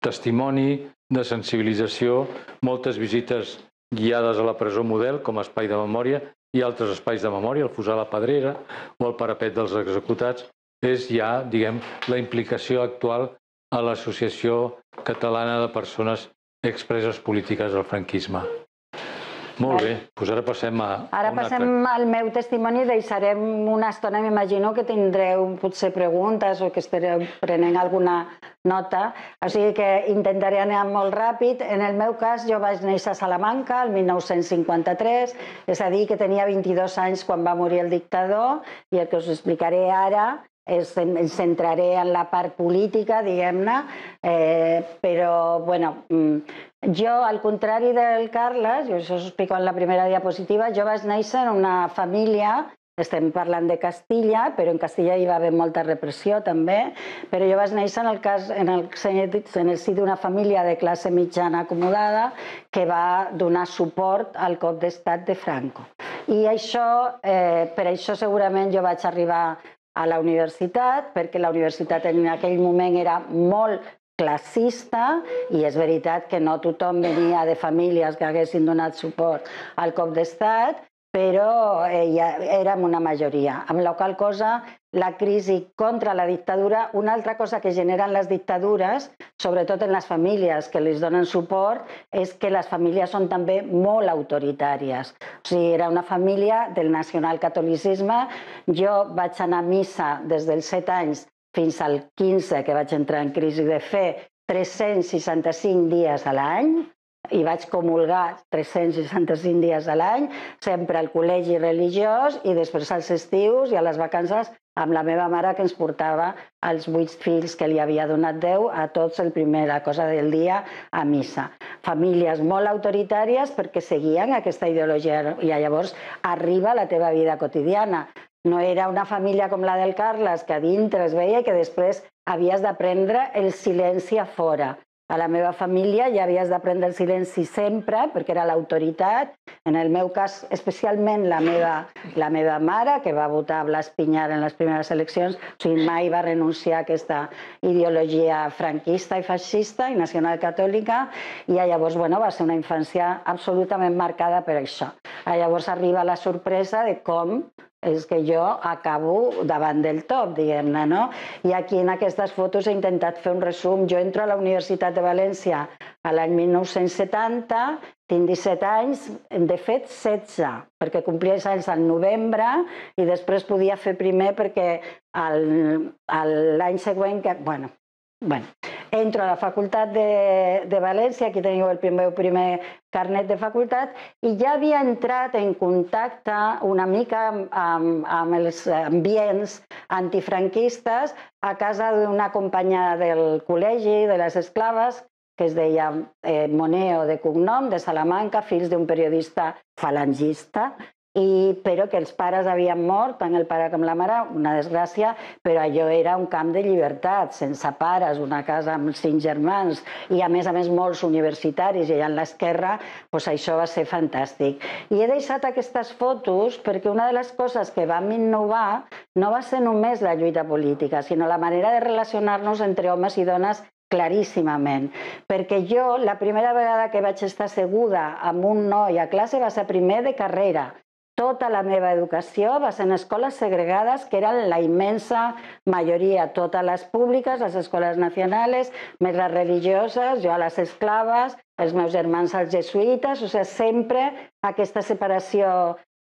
testimoni, de sensibilització, moltes visites guiades a la presó model com a espai de memòria i altres espais de memòria, el Fossar la Pedrera o el parapet dels executats. És ja, diguem, la implicació actual a l'Associació Catalana de Persones Expreses Polítiques del Franquisme. Molt bé, doncs ara passem a... Ara passem al meu testimoni, deixarem una estona, m'imagino que tindreu potser preguntes o que estareu prenent alguna nota, o sigui que intentaré anar molt ràpid. En el meu cas, jo vaig néixer a Salamanca el mil nou-cents cinquanta-tres, és a dir, que tenia vint-i-dos anys quan va morir el dictador, i el que us explicaré ara em centraré en la part política, diguem-ne, però, bueno, jo, al contrari del Carles, jo això us explico en la primera diapositiva, jo vaig néixer en una família, estem parlant de Castilla, però en Castilla hi va haver molta repressió també, però jo vaig néixer en el, cas, en el, en el si d'una família de classe mitjana acomodada que va donar suport al cop d'estat de Franco. I això, eh, per això segurament jo vaig arribar a la universitat, perquè la universitat en aquell moment era molt classista i és veritat que no tothom venia de famílies que haguessin donat suport al cop d'estat, però érem una majoria, amb la qual cosa la crisi contra la dictadura, una altra cosa que generen les dictadures, sobretot en les famílies que les donen suport, és que les famílies són també molt autoritàries. O sigui, era una família del nacionalcatolicisme. Jo vaig anar a missa des dels set anys fins al quinze, que vaig entrar en crisi de fe, tres-cents seixanta-cinc dies a l'any, i vaig comulgar tres-cents seixanta-cinc dies a l'any, sempre al col·legi religiós i després als estius i a les vacances amb la meva mare que ens portava els vuit fills que li havia donat Déu a tots el primera cosa del dia a missa. Famílies molt autoritàries perquè seguien aquesta ideologia i llavors arriba la teva vida quotidiana. No era una família com la del Carles que a dintre es veia i que després havies d'aprendre el silenci a fora. A la meva família ja havies d'aprendre el silenci sempre, perquè era l'autoritat. En el meu cas, especialment la meva, la meva mare, que va votar Blas Piñar en les primeres eleccions, o sigui, mai va renunciar a aquesta ideologia franquista i feixista i nacionalcatòlica, i llavors, bueno, va ser una infància absolutament marcada per això. Llavors arriba la sorpresa de com és que jo acabo davant del top, diguem-ne, no? I aquí en aquestes fotos he intentat fer un resum. Jo entro a la Universitat de València a l'any mil nou-cents setanta, tinc disset anys, de fet setze, perquè complia els anys al novembre i després podia fer primer perquè l'any següent, bueno, bueno, entro a la Facultat de, de València, aquí teniu el meu primer carnet de facultat, i ja havia entrat en contacte una mica amb, amb els ambients antifranquistes a casa d'una companya del col·legi, de les esclaves, que es deia eh, Moneo de cognom, de Salamanca, fills d'un periodista falangista, i, però que els pares havien mort, tant el pare com la mare, una desgràcia, però allò era un camp de llibertat, sense pares, una casa amb cinc germans i a més a més molts universitaris, i allà en l'esquerra, doncs això va ser fantàstic. I he deixat aquestes fotos perquè una de les coses que vam innovar no va ser només la lluita política, sinó la manera de relacionar-nos entre homes i dones claríssimament, perquè jo la primera vegada que vaig estar asseguda amb un noi a classe va ser primer de carrera. Tota la meva educació va ser en escoles segregades, que eren la immensa majoria, totes les públiques, les escoles nacionals, més les religioses, jo a les esclaves, els meus germans als jesuïtes, o sigui, sempre aquesta separació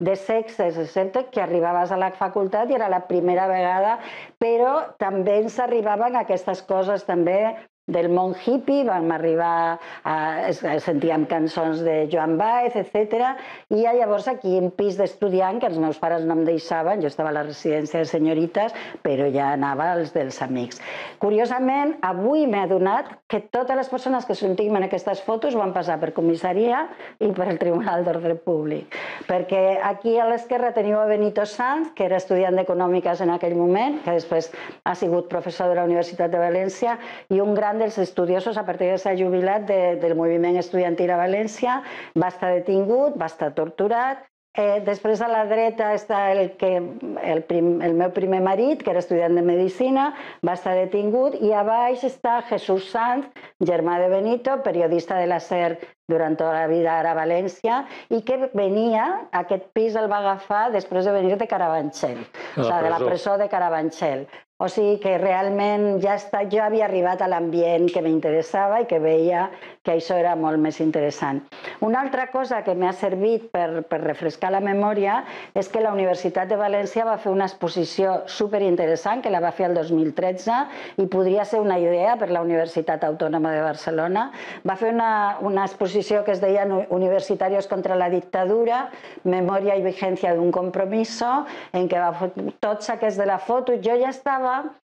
de sexes, excepte que arribaves a la facultat i era la primera vegada, però també ens arribaven aquestes coses també del món hippie, vam arribar a... sentíem cançons de Joan Baez, etcètera, i llavors aquí un pis d'estudiant, que els meus pares no em deixaven, jo estava a la residència de senyorites, però ja anava als dels amics. Curiosament, avui m'he adonat que totes les persones que sentim en aquestes fotos van passar per comissaria i per el Tribunal d'Ordre Públic, perquè aquí a l'esquerra teniu a Benito Sanz, que era estudiant d'Econòmiques en aquell moment, que després ha sigut professor de la Universitat de València, i un gran dels estudiosos, a partir de ser jubilat del moviment estudiantil a València, va estar detingut, va estar torturat. Després a la dreta està el meu primer marit, que era estudiant de Medicina, va estar detingut, i a baix està Jesús Sanz, germà de Benito, periodista de la SER durant tota la vida ara a València, i que venia, aquest pis el va agafar després de venir de Carabanchel, o sigui, de la presó de Carabanchel. O sigui que realment ja està, jo havia arribat a l'ambient que m'interessava i que veia que això era molt més interessant. Una altra cosa que m'ha servit per, per refrescar la memòria és que la Universitat de València va fer una exposició superinteressant, que la va fer el dos mil tretze, i podria ser una idea per la Universitat Autònoma de Barcelona. Va fer una, una exposició que es deia Universitarios contra la dictadura, memòria i vigència d'un compromiso, en què va fer tots aquests de la foto. Jo ja estava estudiar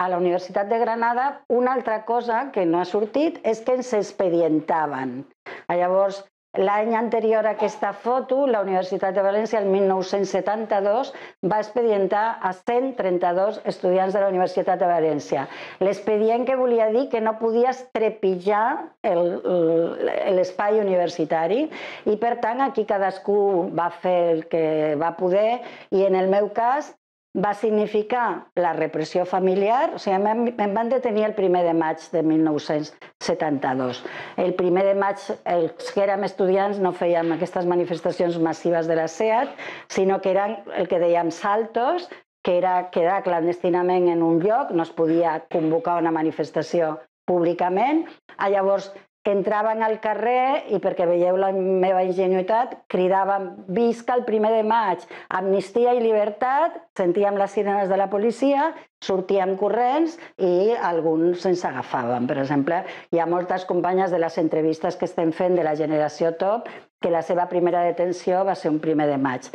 a la Universitat de Granada, una altra cosa que no ha sortit és que ens expedientaven. Llavors, l'any anterior a aquesta foto, la Universitat de València, el mil nou-cents setanta-dos, va expedientar a cent trenta-dos estudiants de la Universitat de València. L'expedient que volia dir que no podies trepitjar l'espai universitari i, per tant, aquí cadascú va fer el que va poder i, en el meu cas, va significar la repressió familiar. O sigui, em van detenir el primer de maig de mil nou-cents setanta-dos. El primer de maig, els que érem estudiants, no fèiem aquestes manifestacions massives de la SEAT, sinó que eren el que dèiem saltos, que era quedar clandestinament en un lloc, no es podia convocar una manifestació públicament. Llavors, entraven al carrer i, perquè veieu la meva ingenuïtat, cridaven visca el primer de maig, amnistia i llibertat, sentíem les sirenes de la policia, sortíem corrents i alguns ens agafaven. Per exemple, hi ha moltes companyes de les entrevistes que estem fent de la generació top que la seva primera detenció va ser un primer de maig.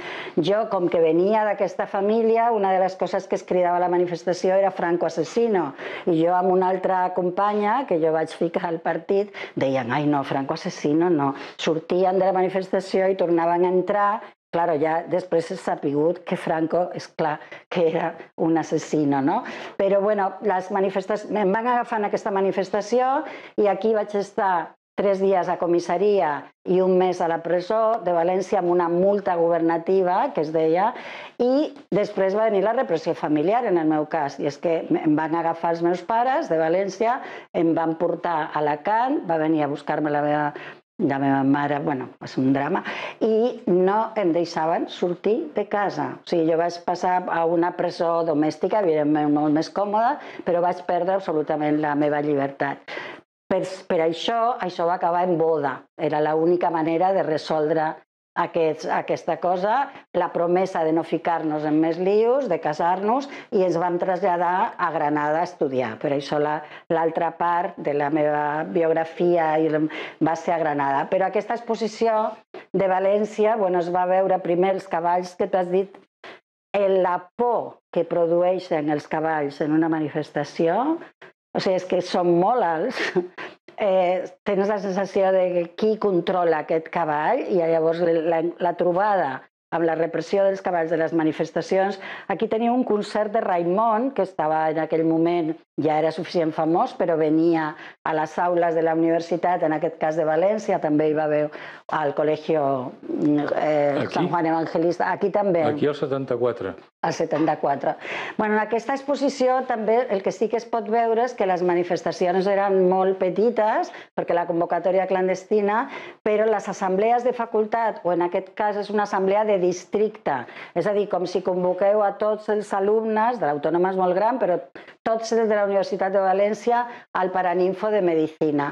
Jo, com que venia d'aquesta família, una de les coses que es cridava a la manifestació era Franco asesino. I jo amb una altra companya, que jo vaig ficar al partit, deien, ai no, Franco asesino no. Sortien de la manifestació i tornaven a entrar. Claro, ja després s'ha sapigut que Franco, és clar, que era un asesino, no? Però, bueno, les manifestacions... Em van agafar en aquesta manifestació i aquí vaig estar tres dies a comissaria i un mes a la presó de València amb una multa governativa, que es deia, i després va venir la repressió familiar, en el meu cas. I és que em van agafar els meus pares de València, em van portar a Alacant, va venir a buscar-me la meva la meva mare, bueno, va ser un drama, i no em deixaven sortir de casa. O sigui, jo vaig passar a una presó domèstica, evidentment molt més còmoda, però vaig perdre absolutament la meva llibertat. Per, per això, això va acabar en boda. Era l'única manera de resoldre aquests, aquesta cosa, la promesa de no ficar-nos en més lius, de casar-nos, i ens vam traslladar a Granada a estudiar. Per això l'altra part de la meva biografia va ser a Granada. Però aquesta exposició de València, bueno, es va veure primer els cavalls que tu has dit, la por que produeixen els cavalls en una manifestació. O sigui, és que són molt alts, eh, tens la sensació de qui controla aquest cavall i llavors la, la trobada amb la repressió dels cavalls de les manifestacions. Aquí tenia un concert de Raimon, que estava en aquell moment, ja era suficient famós, però venia a les aules de la universitat, en aquest cas de València, també hi va haver al Col·legi eh, Sant Juan Evangelista, aquí també. Aquí al setanta-quatre. Al setanta-quatre. Bueno, en aquesta exposició també el que sí que es pot veure és que les manifestacions eren molt petites, perquè la convocatòria clandestina, però les assemblees de facultat, o en aquest cas és una assemblea de districte, és a dir, com si convoqueu a tots els alumnes, de l'Autònoma és molt gran, però tots els de la Universitat de València al Paraninfo de Medicina.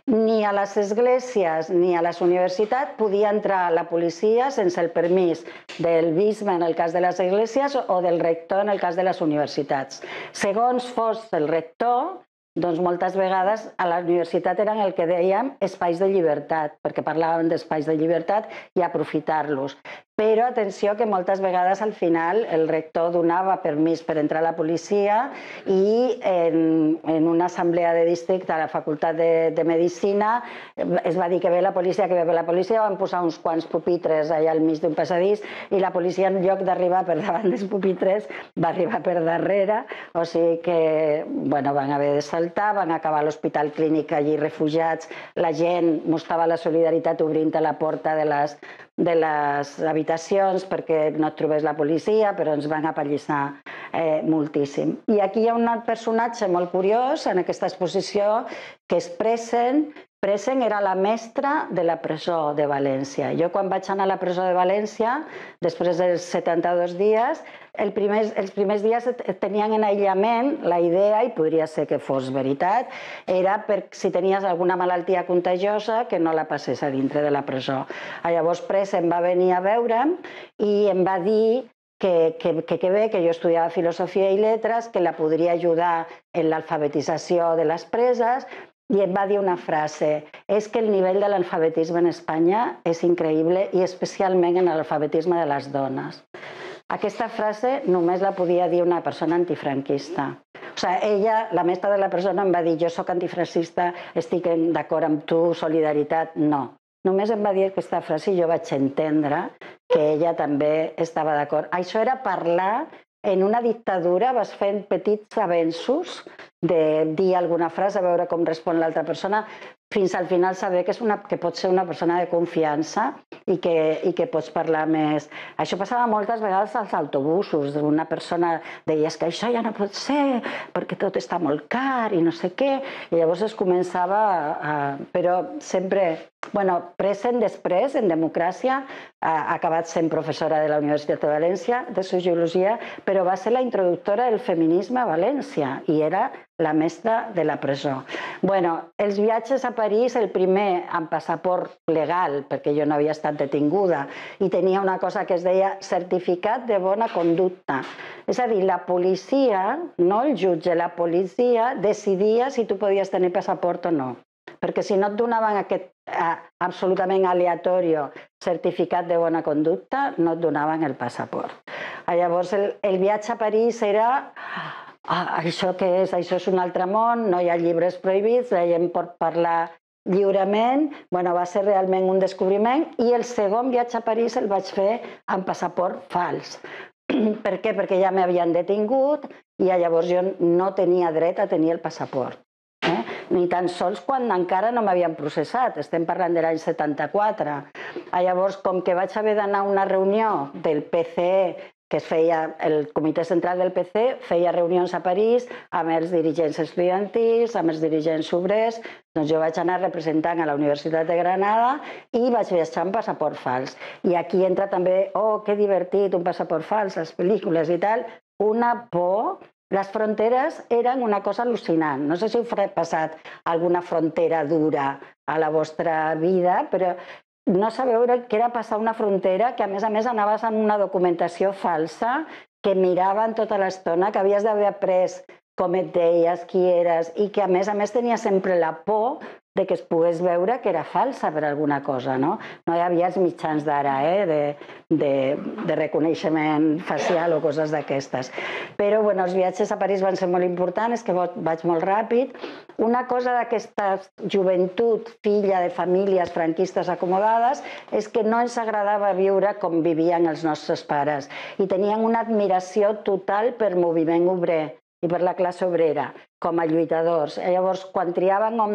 Ni a les esglésies ni a les universitats podia entrar la policia sense el permís del bisbe en el cas de les esglésies o del rector en el cas de les universitats. Segons fos el rector, doncs moltes vegades a la universitat eren el que dèiem espais de llibertat, perquè parlàvem d'espais de llibertat i aprofitar-los. Però atenció que moltes vegades al final el rector donava permís per entrar a la policia i en, en una assemblea de districte a la Facultat de, de Medicina es va dir que ve la policia, que ve la policia, van posar uns quants pupitres allà al mig d'un passadís i la policia en lloc d'arribar per davant dels pupitres va arribar per darrere, o sigui que bueno, van haver de saltar, van acabar a l'hospital clínic allí refugiats, la gent mostrava la solidaritat obrint a la porta de les de les habitacions perquè no et trobés la policia, però ens van apallissar eh, moltíssim. I aquí hi ha un personatge molt curiós en aquesta exposició que és Presen. Presen era la mestra de la presó de València. Jo quan vaig anar a la presó de València, després dels setanta-dos dies, el primer, els primers dies tenien en aïllament la idea, i podria ser que fos veritat, era per si tenies alguna malaltia contagiosa que no la passés a dintre de la presó. Llavors Presen va venir a veure'm i em va dir que, que, que, que bé, que jo estudiava filosofia i lletres, que la podria ajudar en l'alfabetització de les preses, i em va dir una frase, és que el nivell de l'alfabetisme en Espanya és increïble i especialment en l'alfabetisme de les dones. Aquesta frase només la podia dir una persona antifranquista. O sigui, ella, la mestra de la persona, em va dir jo soc antifranquista, estic d'acord amb tu, solidaritat. No. Només em va dir aquesta frase i jo vaig entendre que ella també estava d'acord. Això era parlar en una dictadura, vas fent petits avenços de dir alguna frase, a veure com respon l'altra persona, fins al final saber que, és una, que pots ser una persona de confiança i que, i que pots parlar més. Això passava moltes vegades als autobusos. Una persona deia que això ja no pot ser perquè tot està molt car i no sé què. I llavors es començava a... Però sempre... Bueno, present després, en democràcia, ha acabat sent professora de la Universitat de València, de sociologia, però va ser la introductora del feminisme a València i era la mestra de la presó. Bueno, els viatges a París, el primer amb passaport legal, perquè jo no havia estat detinguda, i tenia una cosa que es deia certificat de bona conducta. És a dir, la policia, no el jutge, la policia decidia si tu podies tenir passaport o no. Perquè si no et donaven aquest eh, absolutament aleatori certificat de bona conducta, no et donaven el passaport. Llavors, el, el viatge a París era... Ah, això què és? Això és un altre món, no hi ha llibres prohibits, la gent pot parlar lliurement. Bueno, va ser realment un descobriment i el segon viatge a París el vaig fer amb passaport fals. Per què? Perquè ja m'havien detingut i llavors jo no tenia dret a tenir el passaport. Eh? Ni tan sols quan encara no m'havien processat, estem parlant de l'any setanta-quatre. Llavors, com que vaig haver d'anar a una reunió del P C E, que es feia, el comitè central del P C E feia reunions a París amb els dirigents estudiantils, amb els dirigents obrers, doncs jo vaig anar representant a la Universitat de Granada i vaig viatjar amb passaport fals. I aquí entra també, oh, que divertit, un passaport fals, les pel·lícules i tal, una por. Les fronteres eren una cosa al·lucinant. No sé si heu passat alguna frontera dura a la vostra vida, però no sabeu què era passar una frontera que a més a més anaves amb una documentació falsa, que miraven tota l'estona, que havies d'haver après com et deies, qui eres, i que a més a més tenia sempre la por de que es pogués veure que era falsa per alguna cosa, no? No hi havia els mitjans d'ara, eh, de, de, de reconeixement facial o coses d'aquestes. Però, bueno, els viatges a París van ser molt importants, és que vaig molt ràpid. Una cosa d'aquesta joventut, filla de famílies franquistes acomodades, és que no ens agradava viure com vivien els nostres pares i tenien una admiració total per moviment obrer i per la classe obrera, com a lluitadors. Llavors, quan triaven on,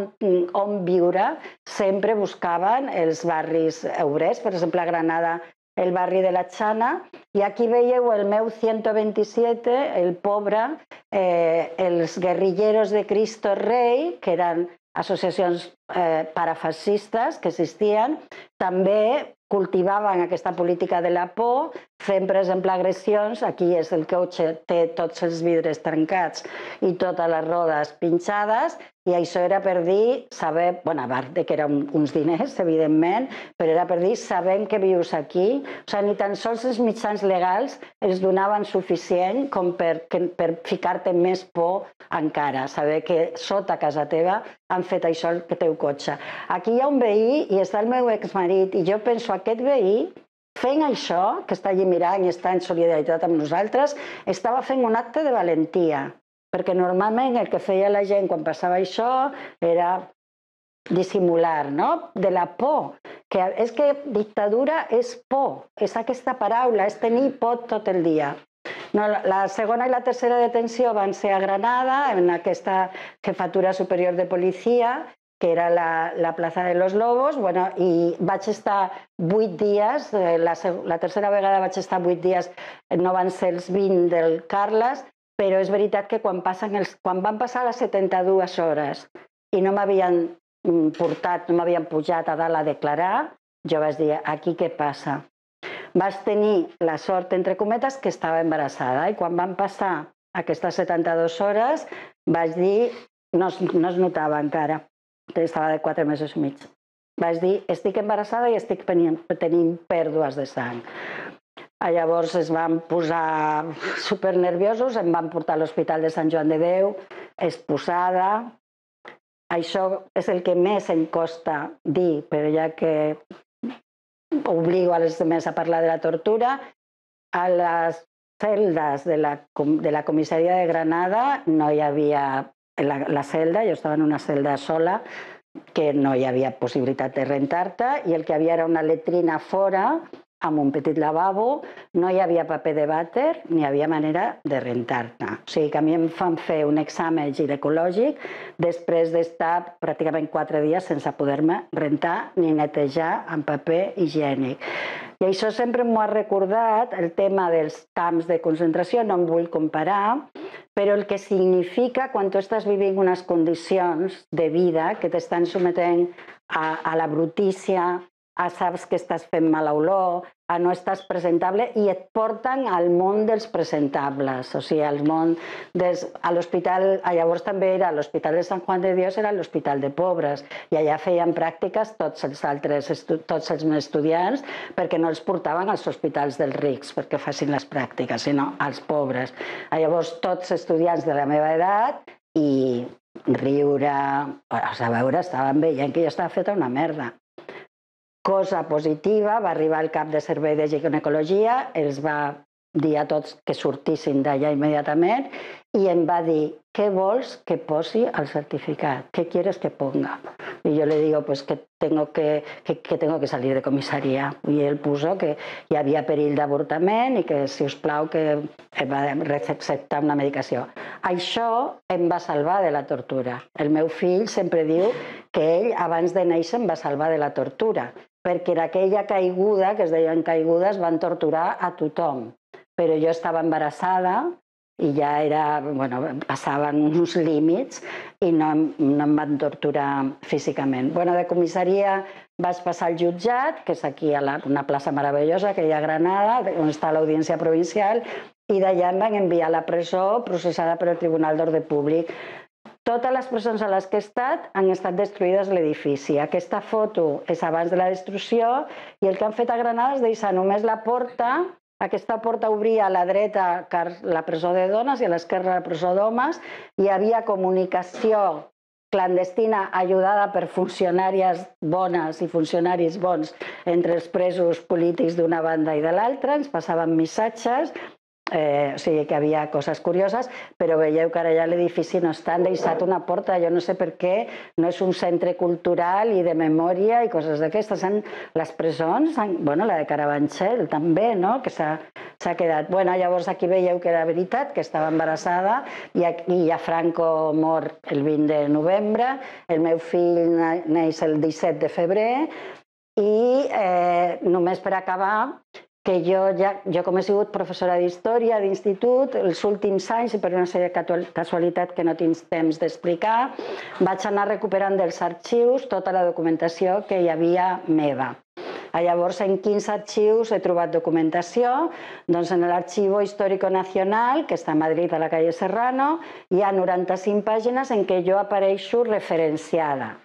on viure, sempre buscaven els barris obrers, per exemple, a Granada, el barri de la Chana, i aquí veieu el meu ciento veintisiete, el pobre, eh, els guerrilleros de Cristo Rei, que eren associacions eh, parafascistes que existien, també cultivaven aquesta política de la por, fent, per exemple, agressions. Aquí és el cotxe, té tots els vidres trencats i totes les rodes pinxades, i això era per dir, saber, bueno, a part que eren uns diners, evidentment, però era per dir, sabem que vius aquí. O sigui, ni tan sols els mitjans legals els donaven suficient com per, per ficar-te més por encara, saber que sota casa teva han fet això al teu cotxe. Aquí hi ha un veí i està el meu exmarit, i jo penso, aquest veí, fent això, que està allí mirant i està en solidaritat amb nosaltres, estava fent un acte de valentia, perquè normalment el que feia la gent quan passava això era dissimular, no? De la por. Que és que dictadura és por, és aquesta paraula, és tenir por tot el dia. No, la segona i la tercera detenció van ser a Granada, en aquesta jefatura superior de policia, que era la, la plaça de los Lobos, bueno, i vaig estar vuit dies, la, la tercera vegada vaig estar vuit dies, no van ser els vint del Carles, però és veritat que quan, passen els, quan van passar les setanta-dues hores i no m'havien portat, no m'havien pujat a dalt a declarar, jo vaig dir, aquí què passa? Vaig tenir la sort, entre cometes, que estava embarassada, i quan van passar aquestes setanta-dues hores vaig dir, no es, no es notava encara, estava de quatre mesos i mig. Vaig dir, estic embarassada i estic tenint, tenint pèrdues de sang. Llavors es van posar supernerviosos, em van portar a l'Hospital de Sant Joan de Déu, exposada. Això és el que més em costa dir, però ja que obligo a les demés a parlar de la tortura, A les celdes de la, de la comissaria de Granada no hi havia la, la celda, jo estava en una celda sola, que no hi havia possibilitat de rentar-te, i el que havia era una letrina fora, amb un petit lavabo, no hi havia paper de vàter, ni hi havia manera de rentar-te. O sigui que a mi em fan fer un examen ginecològic després d'estar pràcticament quatre dies sense poder-me rentar ni netejar amb paper higiènic. I això sempre m'ho ha recordat, el tema dels camps de concentració, no em vull comparar, però el que significa quan tu estàs vivint unes condicions de vida que t'estan sometent a, a la brutícia, a saps que estàs fent mala olor, a no estàs presentable, i et porten al món dels presentables, o sigui, al món dels... A l'hospital, llavors també era l'Hospital de Sant Juan de Dios, era l'hospital de pobres, i allà feien pràctiques tots els altres, tots els estudiants, perquè no els portaven als hospitals dels rics perquè facin les pràctiques, sinó als pobres. Llavors, tots estudiants de la meva edat, i riure... A veure, estaven veient que jo estava feta una merda. Cosa positiva, va arribar el cap de servei de ginecologia, els va dir a tots que sortissin d'allà immediatament i em va dir, què vols que posi al certificat? ¿Qué quieres que ponga? Y yo le digo, pues que tengo que, que, que tengo que salir de comissaria. I ell puso que hi havia perill d'avortament i que, si us plau, que em va receptar una medicació. Això em va salvar de la tortura. El meu fill sempre diu que ell, abans de néixer, em va salvar de la tortura, perquè en aquella caiguda, que es deien caigudes, van torturar a tothom. Però jo estava embarassada i ja era, bueno, passaven uns límits i no, no em van torturar físicament. Bueno, de comissaria vaig passar al jutjat, que és aquí a la, una plaça meravellosa que hi ha a Granada, on està l'Audiència Provincial, i d'allà em van enviar a la presó processada per el Tribunal d'Ordre Públic. Totes les presons a les que he estat han estat destruïdes l'edifici. Aquesta foto és abans de la destrucció i el que han fet a Granada és deixar només la porta. Aquesta porta obria a la dreta la presó de dones i a l'esquerra la presó d'homes. Hi havia comunicació clandestina ajudada per funcionàries bones i funcionaris bons entre els presos polítics d'una banda i de l'altra. Ens passaven missatges. Eh, o sigui que hi havia coses curioses, però veieu que ara ja l'edifici no està, han deixat una porta, jo no sé per què, no és un centre cultural i de memòria i coses d'aquestes. Les presons, bueno, la de Carabanchel també, no?, que s'ha quedat. Bueno, llavors aquí veieu que era veritat, que estava embarassada, i ja Franco mor el vint de novembre, el meu fill neix el disset de febrer, i eh, només per acabar, que jo, ja, jo com he sigut professora d'història d'institut, els últims anys, i per una sèrie de casualitat que no tinc temps d'explicar, vaig anar recuperant dels arxius tota la documentació que hi havia meva. Llavors, en quinze arxius he trobat documentació. Doncs en l'Archivo Histórico Nacional, que està a Madrid, a la calle Serrano, hi ha noranta-cinc pàgines en què jo apareixo referenciada,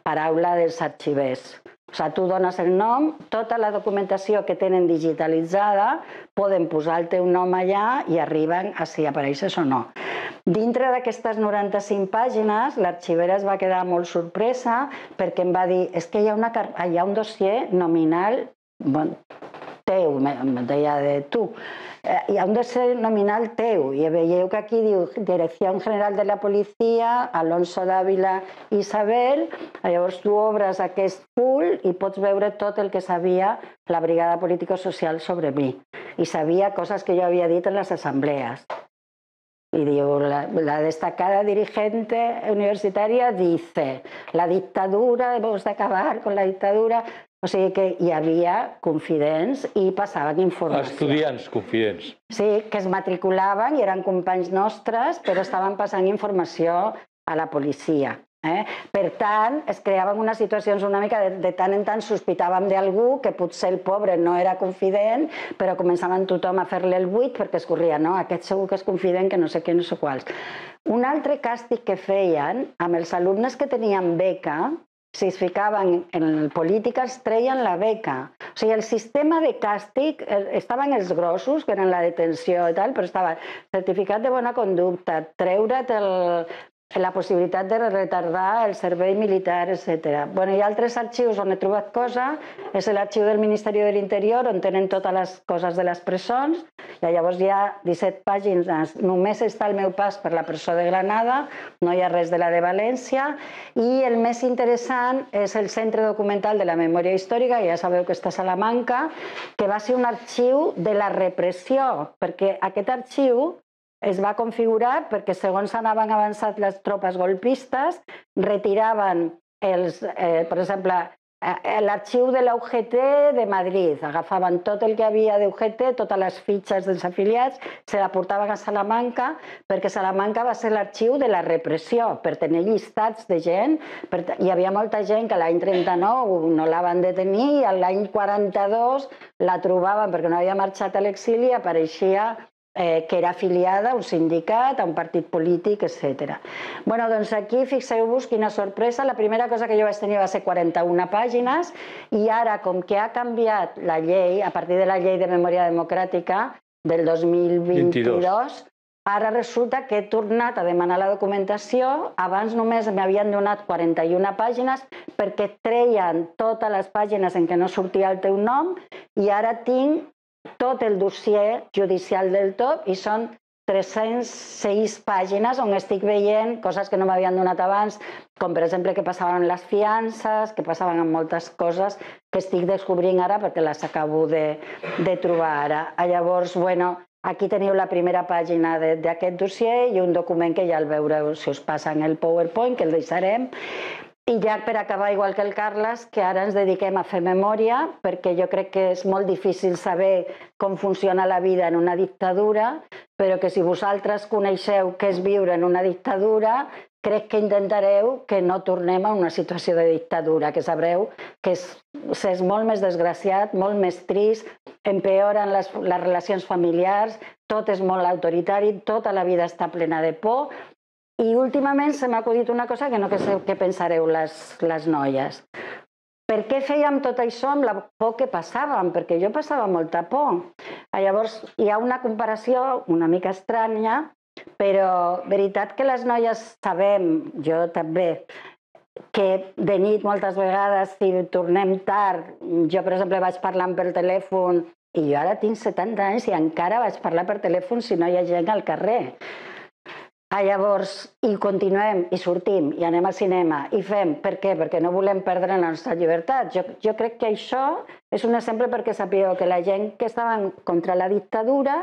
paraula dels arxivers. O sigui, tu dones el nom, tota la documentació que tenen digitalitzada, poden posar el teu nom allà i arriben a si apareixes o no. Dintre d'aquestes noranta-cinc pàgines, l'arxivera es va quedar molt sorpresa perquè em va dir, és que hi ha, una, hi ha un dossier nominal, bon, teu, em deia de tu, hi ha un dossier nominal teu, i veieu que aquí diu Direcció General de la Policia, Alonso Dávila Isabel. Llavors tu obres aquest full i pots veure tot el que sabia la Brigada Político-Social sobre mi. I sabia coses que jo havia dit en les assemblees. Y digo, la, la destacada dirigente universitaria dice, la dictadura, debemos de acabar con la dictadura. O sigui que hi havia confidents i passaven informació. Estudiants confidents. Sí, que es matriculaven i eren companys nostres, però estaven passant informació a la policia. Eh? Per tant, es creaven unes situacions una mica de, de tant en tant sospitàvem d'algú que potser el pobre no era confident, però començaven tothom a fer-li el buit perquè es corria, no, aquest segur que és confident, que no sé què, no sé quals. Un altre càstig que feien amb els alumnes que tenien beca, si es ficaven en política, es treien la beca. O sigui, el sistema de càstig, estaven els grossos, que eren la detenció i tal, però estava certificat de bona conducta, treure't el la possibilitat de retardar el servei militar, etcètera. Bueno, hi ha altres arxius on he trobat cosa, és l'arxiu del Ministeri de l'Interior, on tenen totes les coses de les presons, i llavors hi ha disset pàgines, només està el meu pas per la presó de Granada, no hi ha res de la de València, i el més interessant és el Centre Documental de la Memòria Històrica, ja sabeu que està a Salamanca, que va ser un arxiu de la repressió, perquè aquest arxiu es va configurar perquè segons anaven avançant les tropes golpistes, retiraven, els, eh, per exemple, eh, l'arxiu de la U G T de Madrid, agafaven tot el que havia de U G T, totes les fitxes dels afiliats, se la portaven a Salamanca, perquè Salamanca va ser l'arxiu de la repressió, per tenir llistats de gent. Per, hi havia molta gent que l'any trenta-nou no la van detenir i l'any quaranta-dos la trobaven perquè no havia marxat a l'exili i apareixia Eh, que era afiliada a un sindicat, a un partit polític, etcètera. Bueno, doncs aquí fixeu-vos quina sorpresa. La primera cosa que jo vaig tenir va ser quaranta-una pàgines i ara, com que ha canviat la llei, a partir de la llei de memòria democràtica del dos mil vint-i-dos, ara resulta que he tornat a demanar la documentació. Abans només m'havien donat quaranta-una pàgines perquè treien totes les pàgines en què no sortia el teu nom i ara tinc tot el dossier judicial del tot i són tres-centes sis pàgines on estic veient coses que no m'havien donat abans, com per exemple que passaven les fiances, que passaven amb moltes coses que estic descobrint ara perquè les acabo de, de trobar ara. Llavors, bueno, aquí teniu la primera pàgina d'aquest dossier i un document que ja el veureu si us passa en el PowerPoint, que el deixarem. I ja per acabar, igual que el Carles, que ara ens dediquem a fer memòria, perquè jo crec que és molt difícil saber com funciona la vida en una dictadura, però que si vosaltres coneixeu què és viure en una dictadura, crec que intentareu que no tornem a una situació de dictadura, que sabreu que és, és molt més desgraciat, molt més trist, empeoren les, les relacions familiars, tot és molt autoritari, tota la vida està plena de por. I últimament se m'ha acudit una cosa que no sé què pensareu les, les noies. Per què fèiem tot això amb la por que passàvem? Perquè jo passava molta por. Llavors hi ha una comparació una mica estranya, però veritat que les noies sabem, jo també, que de nit moltes vegades si tornem tard, jo per exemple vaig parlant per telèfon i jo ara tinc setanta anys i encara vaig parlar per telèfon si no hi ha gent al carrer. Llavors, i continuem, i sortim, i anem al cinema, i fem. Per què? Perquè no volem perdre la nostra llibertat. Jo, jo crec que això és un exemple perquè sapigueu que la gent que estaven contra la dictadura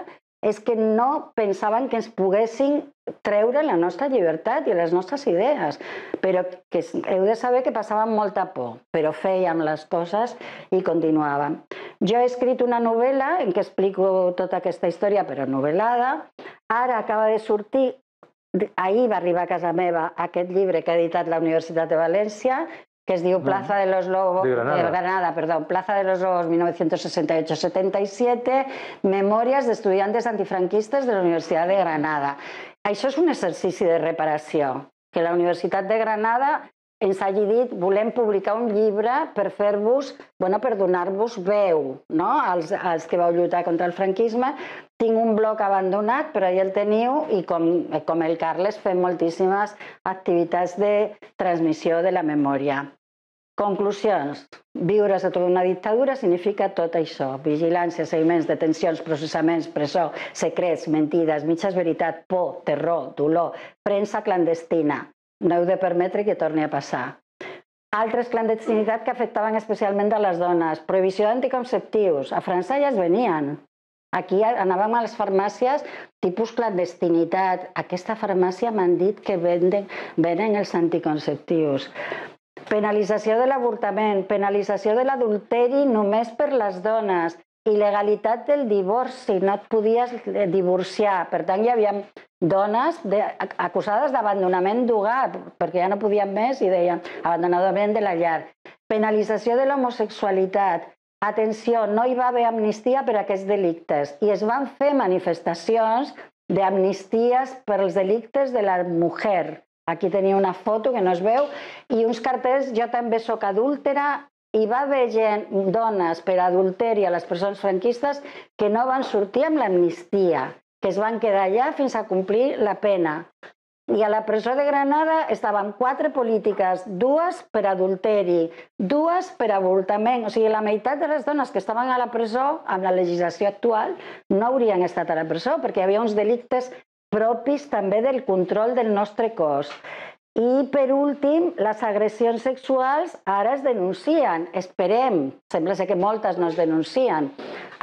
és que no pensaven que ens poguessin treure la nostra llibertat i les nostres idees, però que heu de saber que passàvem molta por, però fèiem les coses i continuàvem. Jo he escrit una novel·la en què explico tota aquesta història, però novel·lada. Ara acaba de sortir, ahir va arribar a casa meva aquest llibre que ha editat la Universitat de València, que es diu Plaza de los Lobos, de Granada, de Granada perdón, Plaza de los Lobos mil novecientos sesenta y ocho setenta y siete, Memòries d'estudiantes antifranquistes de la Universitat de Granada. Això és un exercici de reparació, que la Universitat de Granada ens hagi dit volem publicar un llibre per fer-vos, bueno, per donar-vos veu, no? als, als que vau lluitar contra el franquisme. Tinc un blog abandonat, però ja el teniu, i com, com el Carles fem moltíssimes activitats de transmissió de la memòria. Conclusions. Viure sota una dictadura significa tot això. Vigilància, seguiments, detencions, processaments, presó, secrets, mentides, mitges veritat, por, terror, dolor, premsa clandestina. No heu de permetre que torni a passar. Altres clandestinitats que afectaven especialment a les dones. Prohibició d'anticonceptius. A França ja es venien. Aquí anàvem a les farmàcies tipus clandestinitat. Aquesta farmàcia m'han dit que venden, venen els anticonceptius. Penalització de l'avortament, penalització de l'adulteri només per les dones, il·legalitat del divorci, no et podies divorciar. Per tant, hi havia dones de, acusades d'abandonament d'hogar, perquè ja no podien més i deien abandonament de la llar. Penalització de l'homosexualitat. Atenció, no hi va haver amnistia per a aquests delictes i es van fer manifestacions d'amnisties per als delictes de la mujer. Aquí tenia una foto que no es veu i uns cartells, jo també soc adúltera. Hi va haver gent, dones per adulteri a les presons franquistes que no van sortir amb l'amnistia, que es van quedar allà fins a complir la pena. I a la presó de Granada estaven quatre polítiques, dues per adulteri, dues per avortament. O sigui, la meitat de les dones que estaven a la presó, amb la legislació actual, no haurien estat a la presó, perquè hi havia uns delictes propis també del control del nostre cos. I, per últim, les agressions sexuals ara es denuncien. Esperem, sembla ser que moltes no es denuncien.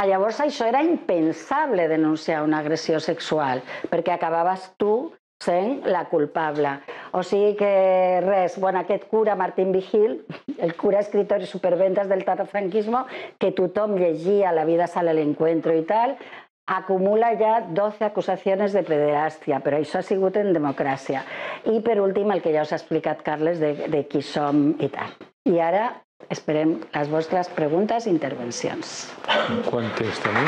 Llavors, això era impensable, denunciar una agressió sexual, perquè acabaves tu sent la culpable. O sigui que res, bueno, aquest cura, Martín Vigil, el cura escritor i superventas del franquismo, que tothom llegia La vida sale al encuentro i tal, acumula ja doce acusacions de pederàstia, però això ha sigut en democràcia. I per últim, el que ja us ha explicat Carles de qui som i tal. I ara esperem les vostres preguntes i intervencions. Quant temps tenim?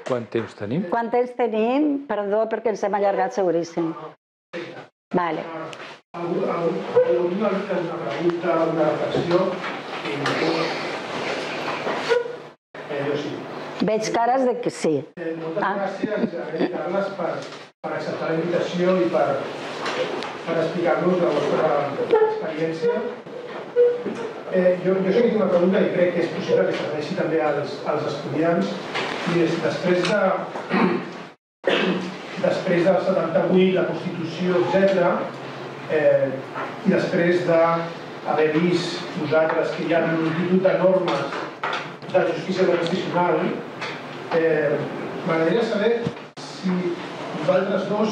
Quant temps tenim? Quant temps tenim? Perdó, perquè ens hem allargat seguríssim. Vale. Alguna pregunta, una reflexió? Jo sí. Veig cares de que sí. Moltes gràcies, Carles, per acceptar la invitació i per explicar-nos la vostra experiència. Jo sí que tinc una pregunta i crec que és possible que serveixi també als estudiants. I després de després del setanta-vuit, la Constitució, etcètera, i després d'haver vist vosaltres que hi ha un institut de normes de justícia transicional, m'agradaria saber si vosaltres dos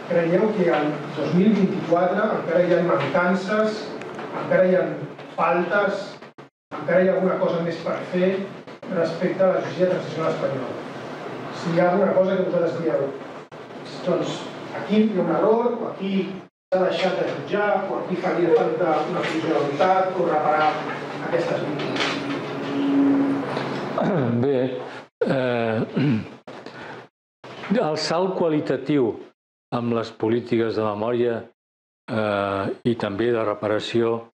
creieu que el dos mil vint-i-quatre encara hi ha mancances, encara hi ha faltes, encara hi ha alguna cosa més per fer respecte a la justícia transicional espanyola. Si hi ha alguna cosa que vosaltres dieu, doncs aquí hi ha un error, o aquí s'ha deixat de jutjar, o aquí faria falta una funcionalitat o reparar aquestes víctimes. Bé, el salt qualitatiu amb les polítiques de memòria i també de reparació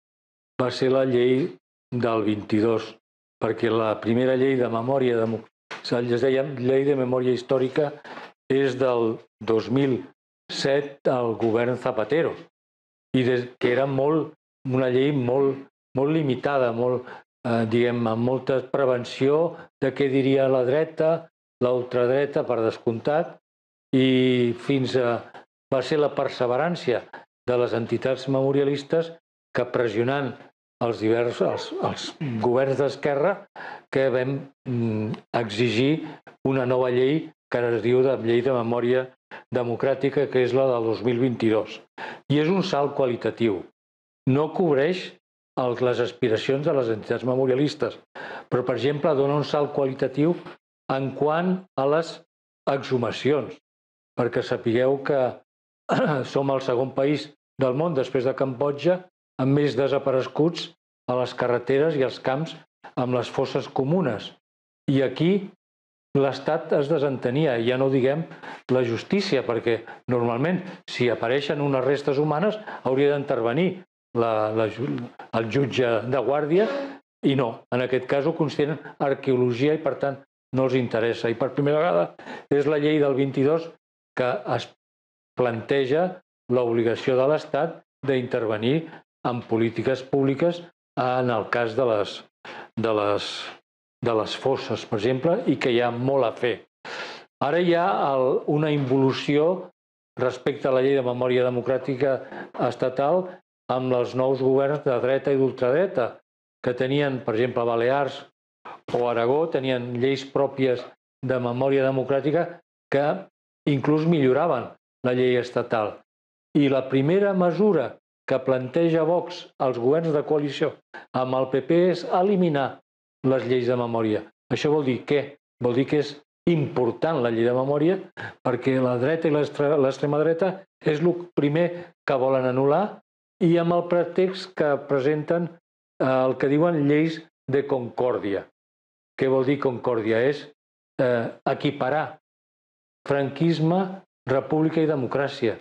va ser la llei del vint-i-dos, perquè la primera llei de memòria, es deia llei de memòria històrica, és del dos mil set al govern Zapatero, i que era una llei molt limitada, amb molta prevenció de què diria la dreta, la ultradreta, per descomptat, i fins a... va ser la perseverància de les entitats memorialistes que pressionant els diversos els governs d'esquerra que vam exigir una nova llei que ara es diu de Llei de Memòria Democràtica, que és la del dos mil vint-i-dos. I és un salt qualitatiu. No cobreix les aspiracions de les entitats memorialistes, però, per exemple, dona un salt qualitatiu en quant a les exhumacions, perquè sapigueu que som el segon país del món, després de Cambodja, amb més desapareguts a les carreteres i als camps amb les fosses comunes. I aquí l'Estat es desentenia, ja no diguem la justícia, perquè normalment si apareixen unes restes humanes hauria d'intervenir el jutge de guàrdia i no, en aquest cas ho consideren arqueologia i per tant no els interessa. I per primera vegada és la llei del vint-i-dos que es planteja l'obligació de l'Estat d'intervenir en polítiques públiques en el cas de les, de les, de les fosses, per exemple, i que hi ha molt a fer. Ara hi ha una involució respecte a la llei de memòria democràtica estatal amb els nous governs de dreta i d'ultradreta, que tenien, per exemple, Balears o Aragó, tenien lleis pròpies de memòria democràtica que inclús milloraven la llei estatal. I la primera mesura que planteja Vox als governs de coalició amb el P P és eliminar les lleis de memòria. Això vol dir què? Vol dir que és important la llei de memòria perquè la dreta i l'extrema dreta és el primer que volen anul·lar i amb el pretext que presenten el que diuen lleis de concòrdia. Què vol dir concòrdia? És equiparar franquisme, república i democràcia.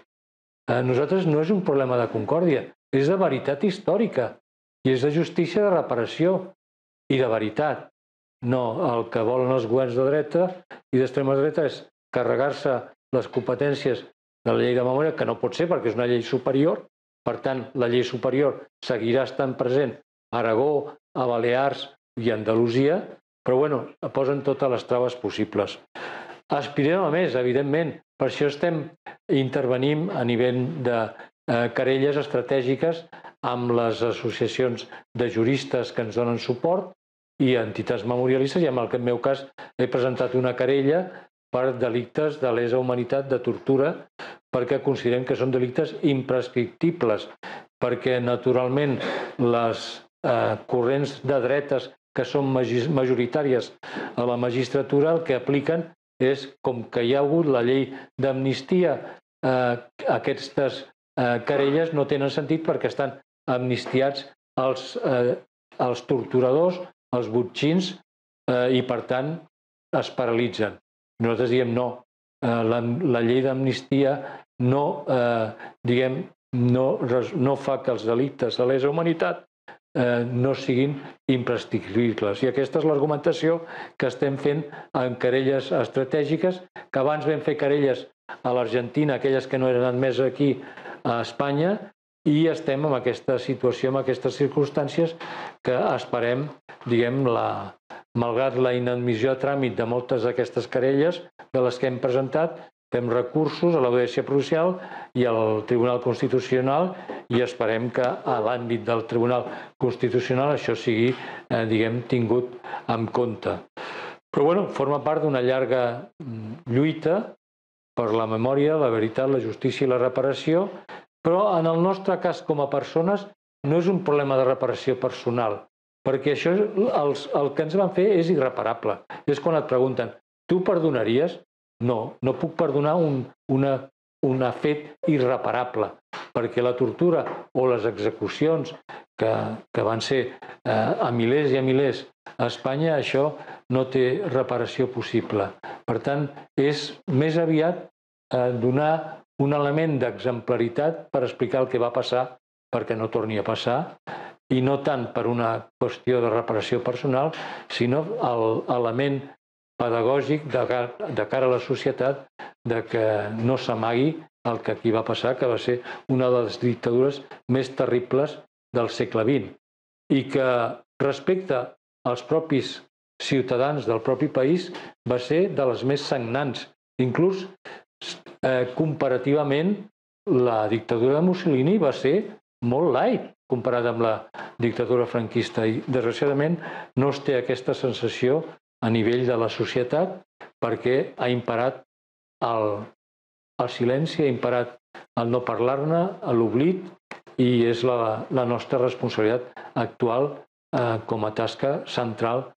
Nosaltres no és un problema de concòrdia, és de veritat històrica i és de justícia de reparació i de veritat. No, el que volen els governs de dreta i d'extrema dreta és carregar-se les competències de la llei de memòria, que no pot ser perquè és una llei superior. Per tant, la llei superior seguirà estant present a Aragó, a Balears i a Andalusia, però bueno, posen totes les traves possibles. Aspirem a més, evidentment. Per això estem intervenint a nivell de eh, querelles estratègiques amb les associacions de juristes que ens donen suport i entitats memorialistes, i en el meu cas he presentat una querella per delictes de lesa humanitat, de tortura, perquè considerem que són delictes imprescriptibles, perquè naturalment les eh, corrents de dretes que són majoritàries a la magistratura el que apliquen és, com que hi ha hagut la llei d'amnistia, eh, aquestes eh, querelles no tenen sentit perquè estan amnistiats els, eh, els torturadors, els botxins, eh, i per tant es paralitzen. Nosaltres diem no, eh, la, la llei d'amnistia no, eh, diguem, no, no fa que els delictes de lesa humanitat eh, no siguin imprescriptibles. I aquesta és l'argumentació que estem fent en querelles estratègiques, que abans vam fer querelles a l'Argentina, aquelles que no eren admeses aquí a Espanya, i estem en aquesta situació, en aquestes circumstàncies, que esperem, diguem, la, malgrat la inadmissió a tràmit de moltes d'aquestes querelles de les que hem presentat, fem recursos a l'Audiència Provincial i al Tribunal Constitucional i esperem que a l'àmbit del Tribunal Constitucional això sigui, eh, diguem, tingut en compte. Però, bueno, forma part d'una llarga lluita per la memòria, la veritat, la justícia i la reparació, però en el nostre cas com a persones no és un problema de reparació personal, perquè això els, el que ens van fer és irreparable. És quan et pregunten, tu perdonaries? No, no puc perdonar un, una, un fet irreparable, perquè la tortura o les execucions que, que van ser eh, a milers i a milers a Espanya, això no té reparació possible. Per tant, és més aviat eh, donar un element d'exemplaritat per explicar el que va passar perquè no torni a passar, i no tant per una qüestió de reparació personal, sinó l'element pedagògic de cara, de cara a la societat de que no s'amagui el que aquí va passar, que va ser una de les dictadures més terribles del segle vint, i que respecte als propis ciutadans del propi país va ser de les més sagnants. Inclús eh, comparativament la dictadura de Mussolini va ser molt light comparat amb la dictadura franquista, i desgraciadament no es té aquesta sensació a nivell de la societat perquè ha imparat el, el silenci, ha imparat el no parlar-ne, l'oblit, i és la, la nostra responsabilitat actual eh, com a tasca central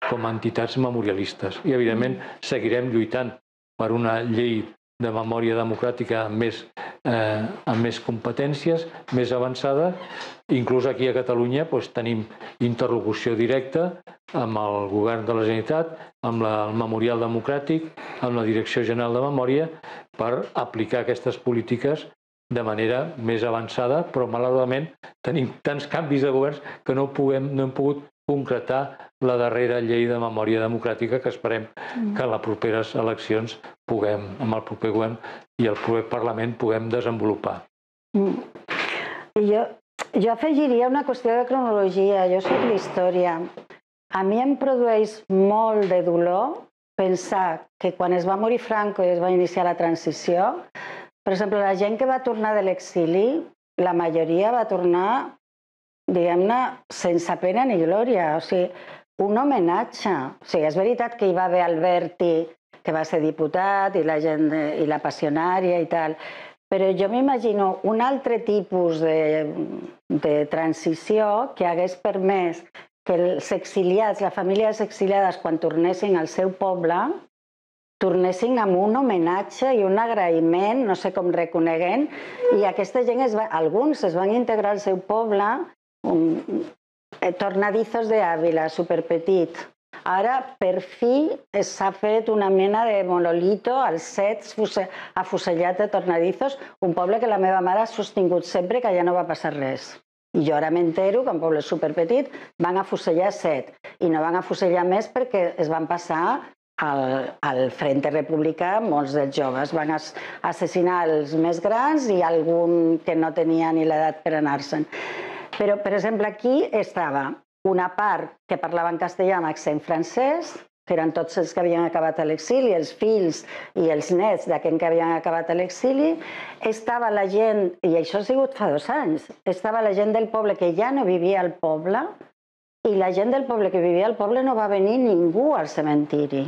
com a entitats memorialistes. I evidentment seguirem lluitant per una llei de memòria democràtica amb més, eh, amb més competències, més avançada. Inclús aquí a Catalunya doncs, tenim interlocució directa amb el govern de la Generalitat, amb la, el Memorial Democràtic, amb la Direcció General de Memòria, per aplicar aquestes polítiques de manera més avançada, però malauradament tenim tants canvis de governs que no, puguem, no hem pogut concretar la darrera llei de memòria democràtica que esperem que en les properes eleccions puguem, amb el proper govern i el proper Parlament, puguem desenvolupar. Mm. Jo, jo afegiria una qüestió de cronologia. Jo soc d'història. A mi em produeix molt de dolor pensar que quan es va morir Franco i es va iniciar la transició, per exemple, la gent que va tornar de l'exili, la majoria va tornar, diguem-ne, sense pena ni glòria. O sigui, un homenatge. O sigui, és veritat que hi va haver Alberti, que va ser diputat, i la gent, i la passionària i tal, però jo m'imagino un altre tipus de, de transició que hagués permès que els exiliats, les famílies exiliades, quan tornessin al seu poble, tornessin amb un homenatge i un agraïment, no sé com reconeguent, i aquesta gent, es va, alguns es van integrar al seu poble, un, eh, Tornadizos de Ávila, superpetit. Ara, per fi, s'ha fet una mena de monolito als Sets, afusellat de Tornadizos, un poble que la meva mare ha sostingut sempre que ja no va passar res. I jo ara m'entero que un poble superpetit van afusellar set i no van afusellar més perquè es van passar al, al Frente Republicà molts dels joves. Van assassinar els més grans i algun que no tenia ni l'edat per anar-se'n. Però, per exemple, aquí estava una part que parlava en castellà amb accent francès, que eren tots els que havien acabat a l'exili, els fills i els nets d'aquells que havien acabat a l'exili. Estava la gent, i això ha sigut fa dos anys, estava la gent del poble que ja no vivia al poble, i la gent del poble que vivia al poble no va venir ningú al cementiri.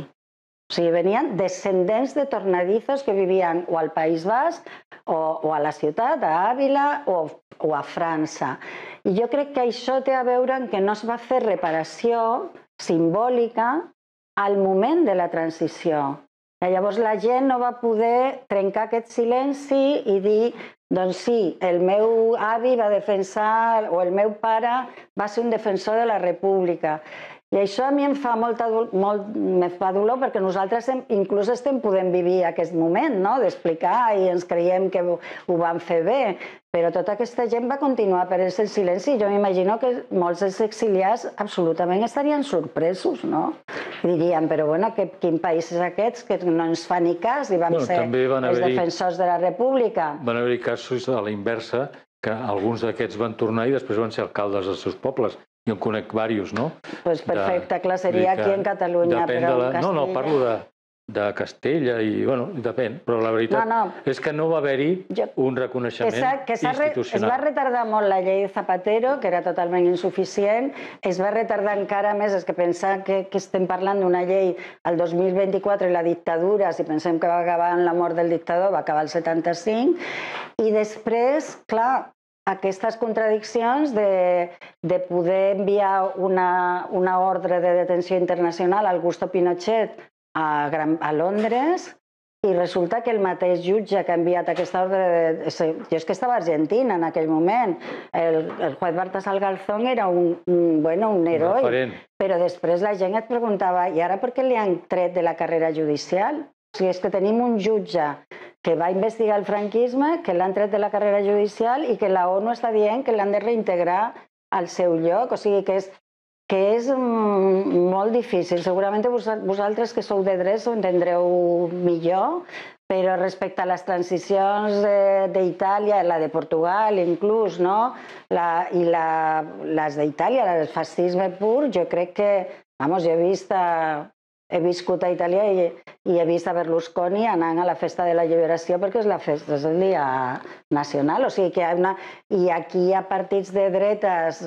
O sigui, venien descendents de tornadizos que vivien o al País Basc o, o a la ciutat, a Àvila o, o a França. I jo crec que això té a veure amb que no es va fer reparació simbòlica al moment de la transició. I llavors la gent no va poder trencar aquest silenci i dir, doncs sí, el meu avi va defensar, o el meu pare va ser un defensor de la República. I això a mi em fa molta, molt, me fa dolor perquè nosaltres hem, inclús estem podent vivir aquest moment, no? D'explicar i ens creiem que ho, ho van fer bé, però tota aquesta gent va continuar per el silenci. Jo m'imagino que molts dels exiliats absolutament estarien sorpresos, no? I dirien, però bueno, que, quin país és aquest que no ens fa ni cas i vam bueno, ser els defensors de la República. Van haver-hi casos a la inversa que alguns d'aquests van tornar i després van ser alcaldes dels seus pobles. Jo en conec diversos, no? Doncs perfecte, clar, seria aquí en Catalunya, però en Castella... No, no, parlo de, de Castella i, bueno, depèn, però la veritat no, no. és que no va haver-hi un reconeixement que institucional. Es va retardar molt la llei de Zapatero, que era totalment insuficient, es va retardar encara més, és que pensar que, que estem parlant d'una llei al dos mil vint-i-quatre i la dictadura, si pensem que va acabar amb la mort del dictador, va acabar el setanta-cinc, i després, clar, aquestes contradiccions de, de poder enviar una, una ordre de detenció internacional al Augusto Pinochet a, Gran, a Londres i resulta que el mateix jutge que ha enviat aquesta ordre... De, jo és que estava a Argentina en aquell moment. El, el juez Baltasar Garzón era un, un, bueno, un heroi, referent. Però després la gent et preguntava i ara per què li han tret de la carrera judicial? O sigui, és que tenim un jutge que va investigar el franquisme, que l'han tret de la carrera judicial i que la ONU està dient que l'han de reintegrar al seu lloc. O sigui que és, que és molt difícil. Segurament vosaltres que sou de drets ho entendreu millor, però respecte a les transicions d'Itàlia, la de Portugal inclús, no? la, i la, les d'Itàlia, el fascisme pur, jo crec que, vamos, jo he vist... A, He viscut a Itàlia i, i he vist a Berlusconi anant a la festa de la lliberació perquè és la festa, és el dia nacional. O sigui que hi ha una... I aquí hi ha partits de dretes,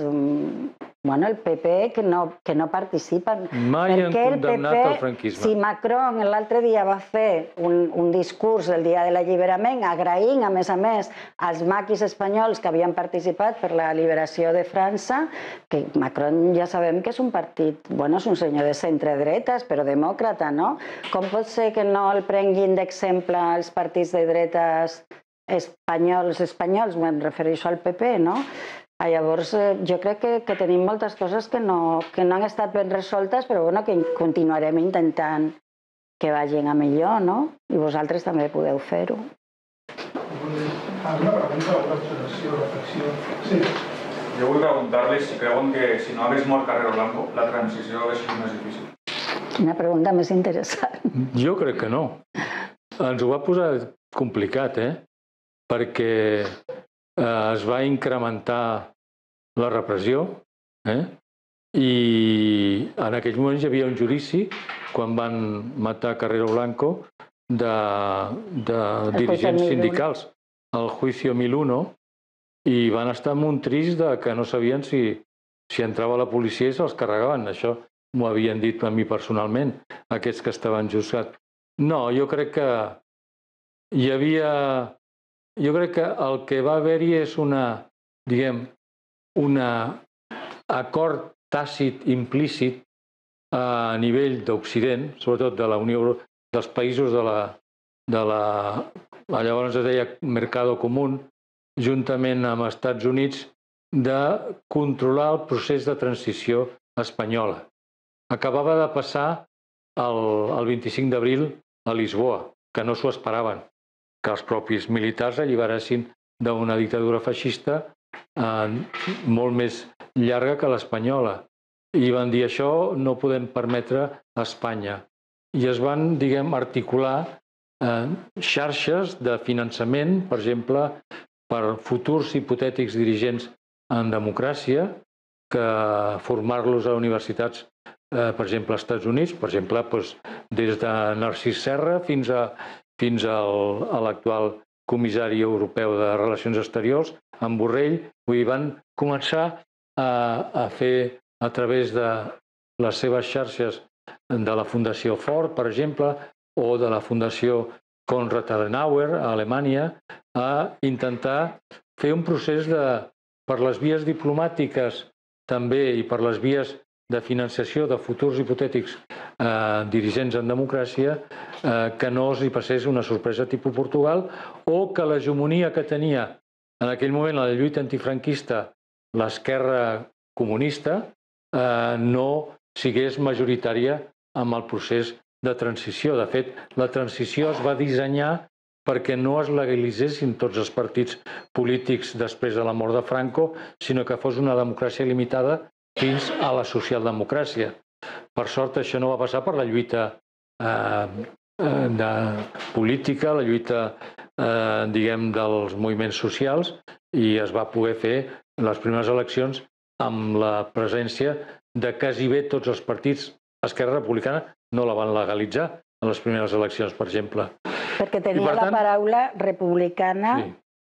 bueno, el P P, que no, que no participen. Mai han condemnat el franquisme. Si Macron l'altre dia va fer un, un discurs el dia de l'alliberament, agraint, a més a més, als maquis espanyols que havien participat per la liberació de França, que Macron ja sabem que és un partit, bueno, és un senyor de centre-dretes, però demòcrata, no? Com pot ser que no el prenguin d'exemple els partits de dretes espanyols, espanyols, me'n refereixo al P P, no? Llavors, jo crec que, que tenim moltes coses que no, que no han estat ben resoltes, però bueno, que continuarem intentant que vagin a millor, no? I vosaltres també podeu fer-ho. Alguna pregunta o una observació, reflexió? Sí. Jo vull preguntar-li si creuen que si no hagués mort Carrero Blanco, la transició hauria sigut més difícil. Quina pregunta més interessant. Jo crec que no. Ens ho va posar complicat, eh? Perquè eh, es va incrementar la repressió, eh? I en aquells moments hi havia un judici, quan van matar Carrero Blanco, de, de dirigents sindicals, el Juicio mil uno, i van estar amb un trist de que no sabien si, si entrava la policia i se'ls carregaven. Això m'ho havien dit a mi personalment, aquests que estaven juzgats. No, jo crec que hi havia... Jo crec que el que va haver-hi és una, diguem, una acord tàcit, implícit a nivell d'Occident, sobretot de la Unió dels països de la, de la, llavors es deia Mercado Común, juntament amb els Estats Units, de controlar el procés de transició espanyola. Acabava de passar el, el vint-i-cinc d'abril a Lisboa, que no s'ho esperaven, que els propis militars alliberessin d'una dictadura feixista molt més llarga que l'espanyola. I van dir, això no podem permetre a Espanya. I es van, diguem, articular xarxes de finançament, per exemple, per futurs hipotètics dirigents en democràcia, que formar-los a universitats, per exemple, als Estats Units, per exemple, des de Narcís Serra fins a l'actual comissari europeu de Relacions Exteriors, en Borrell, van començar a fer, a través de les seves xarxes de la Fundació Ford, per exemple, o de la Fundació Konrad Adenauer a Alemanya, a intentar fer un procés de, per les vies diplomàtiques també i per les vies de financiació de futurs hipotètics dirigents en democràcia, que no els hi passés una sorpresa tipus Portugal, o que l'hegemonia que tenia en aquell moment la lluita antifranquista l'esquerra comunista no sigués majoritària amb el procés de transició. De fet, la transició es va dissenyar perquè no es legalitzessin tots els partits polítics després de la mort de Franco, sinó que fos una democràcia limitada fins a la socialdemocràcia. Per sort, això no va passar per la lluita política, la lluita, diguem, dels moviments socials, i es va poder fer les primeres eleccions amb la presència de quasi bé tots els partits. Esquerra Republicana no la van legalitzar a les primeres eleccions, per exemple. Perquè tenia la paraula republicana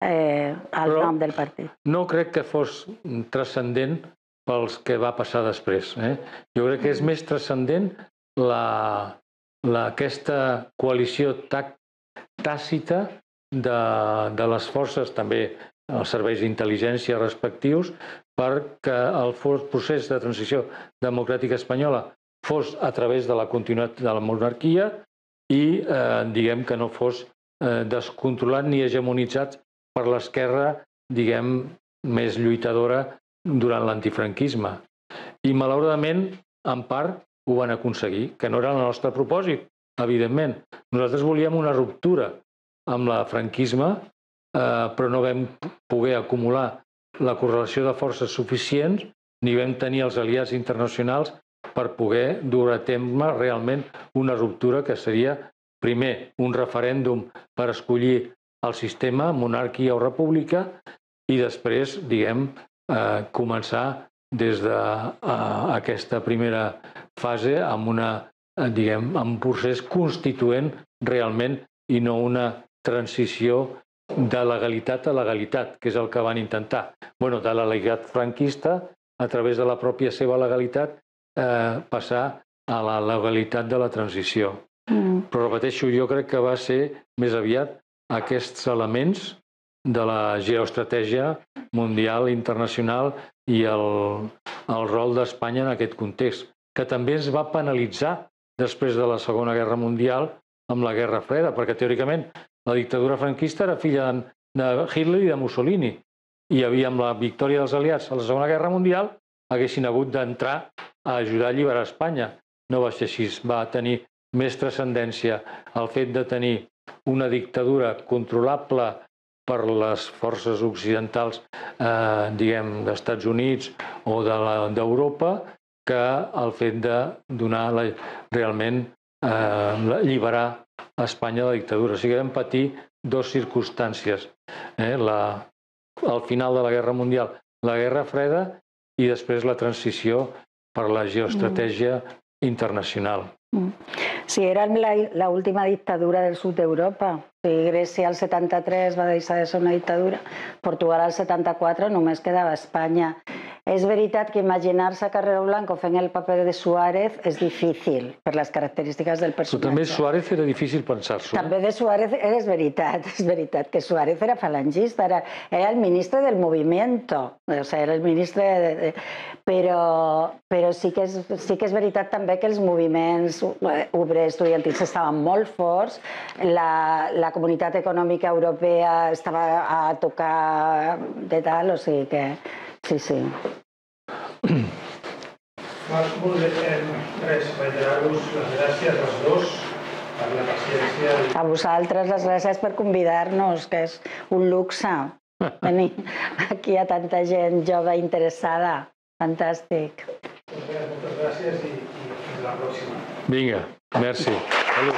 al nom del partit. No crec que fos transcendent pels que va passar després. Jo crec que és més transcendent aquesta coalició tàcita de les forces, també els serveis d'intel·ligència respectius, perquè el procés de transició democràtica espanyola fos a través de la continuïtat de la monarquia i, diguem, que no fos descontrolat ni hegemonitzat per l'esquerra, diguem, més lluitadora durant l'antifranquisme. I, malauradament, en part, ho van aconseguir, que no era el nostre propòsit, evidentment. Nosaltres volíem una ruptura amb el franquisme, però no vam poder acumular la correlació de forces suficients ni vam tenir els aliats internacionals per poder dur a terme realment una ruptura que seria, primer, un referèndum per escollir el sistema, monarquia o república, i després, diguem, començar des d'aquesta primera fase amb un procés constituent realment i no una transició de legalitat a legalitat, que és el que van intentar. Bé, de la legalitat franquista, a través de la pròpia seva legalitat, passar a la legalitat de la transició. Però, repeteixo, jo crec que va ser més aviat aquests elements de la geoestratègia mundial, internacional i el rol d'Espanya en aquest context, que també es va penalitzar després de la Segona Guerra Mundial amb la Guerra Freda, perquè teòricament la dictadura franquista era filla de Hitler i de Mussolini, i amb la victòria dels aliats a la Segona Guerra Mundial haguessin hagut d'entrar a ajudar a alliberar Espanya. No va ser així, va tenir més transcendència el fet de tenir una dictadura controlable per les forces occidentals, diguem, d'Estats Units o d'Europa, que el fet de donar realment alliberar Espanya de la dictadura. O sigui, vam patir dues circumstàncies. Al final de la Guerra Mundial, la Guerra Freda, i després la transició per la geoestratègia internacional. Sí, era l'última dictadura del sud d'Europa. Grècia al setanta-tres va deixar de ser una dictadura, Portugal al setanta-quatre només quedava Espanya. És veritat que imaginar-se a Carrero Blanco fent el paper de Suárez és difícil per les característiques del personatge. Però també Suárez era difícil pensar-s'ho. També de Suárez és veritat, és veritat que Suárez era falangista, era el ministre del movimiento, o sigui, era el ministre... Però sí que és veritat també que els moviments obrers estudiantils estaven molt forts, la comunitat econòmica europea estava a tocar de tal, o sigui que... Sí, sí. Molt bé, res, reiterar-vos les gràcies als dos per la paciència. A vosaltres les gràcies per convidar-nos, que és un luxe. Venir aquí a tanta gent jove interessada. Fantàstic. Moltes gràcies i fins la pròxima. Vinga, merci. Salut.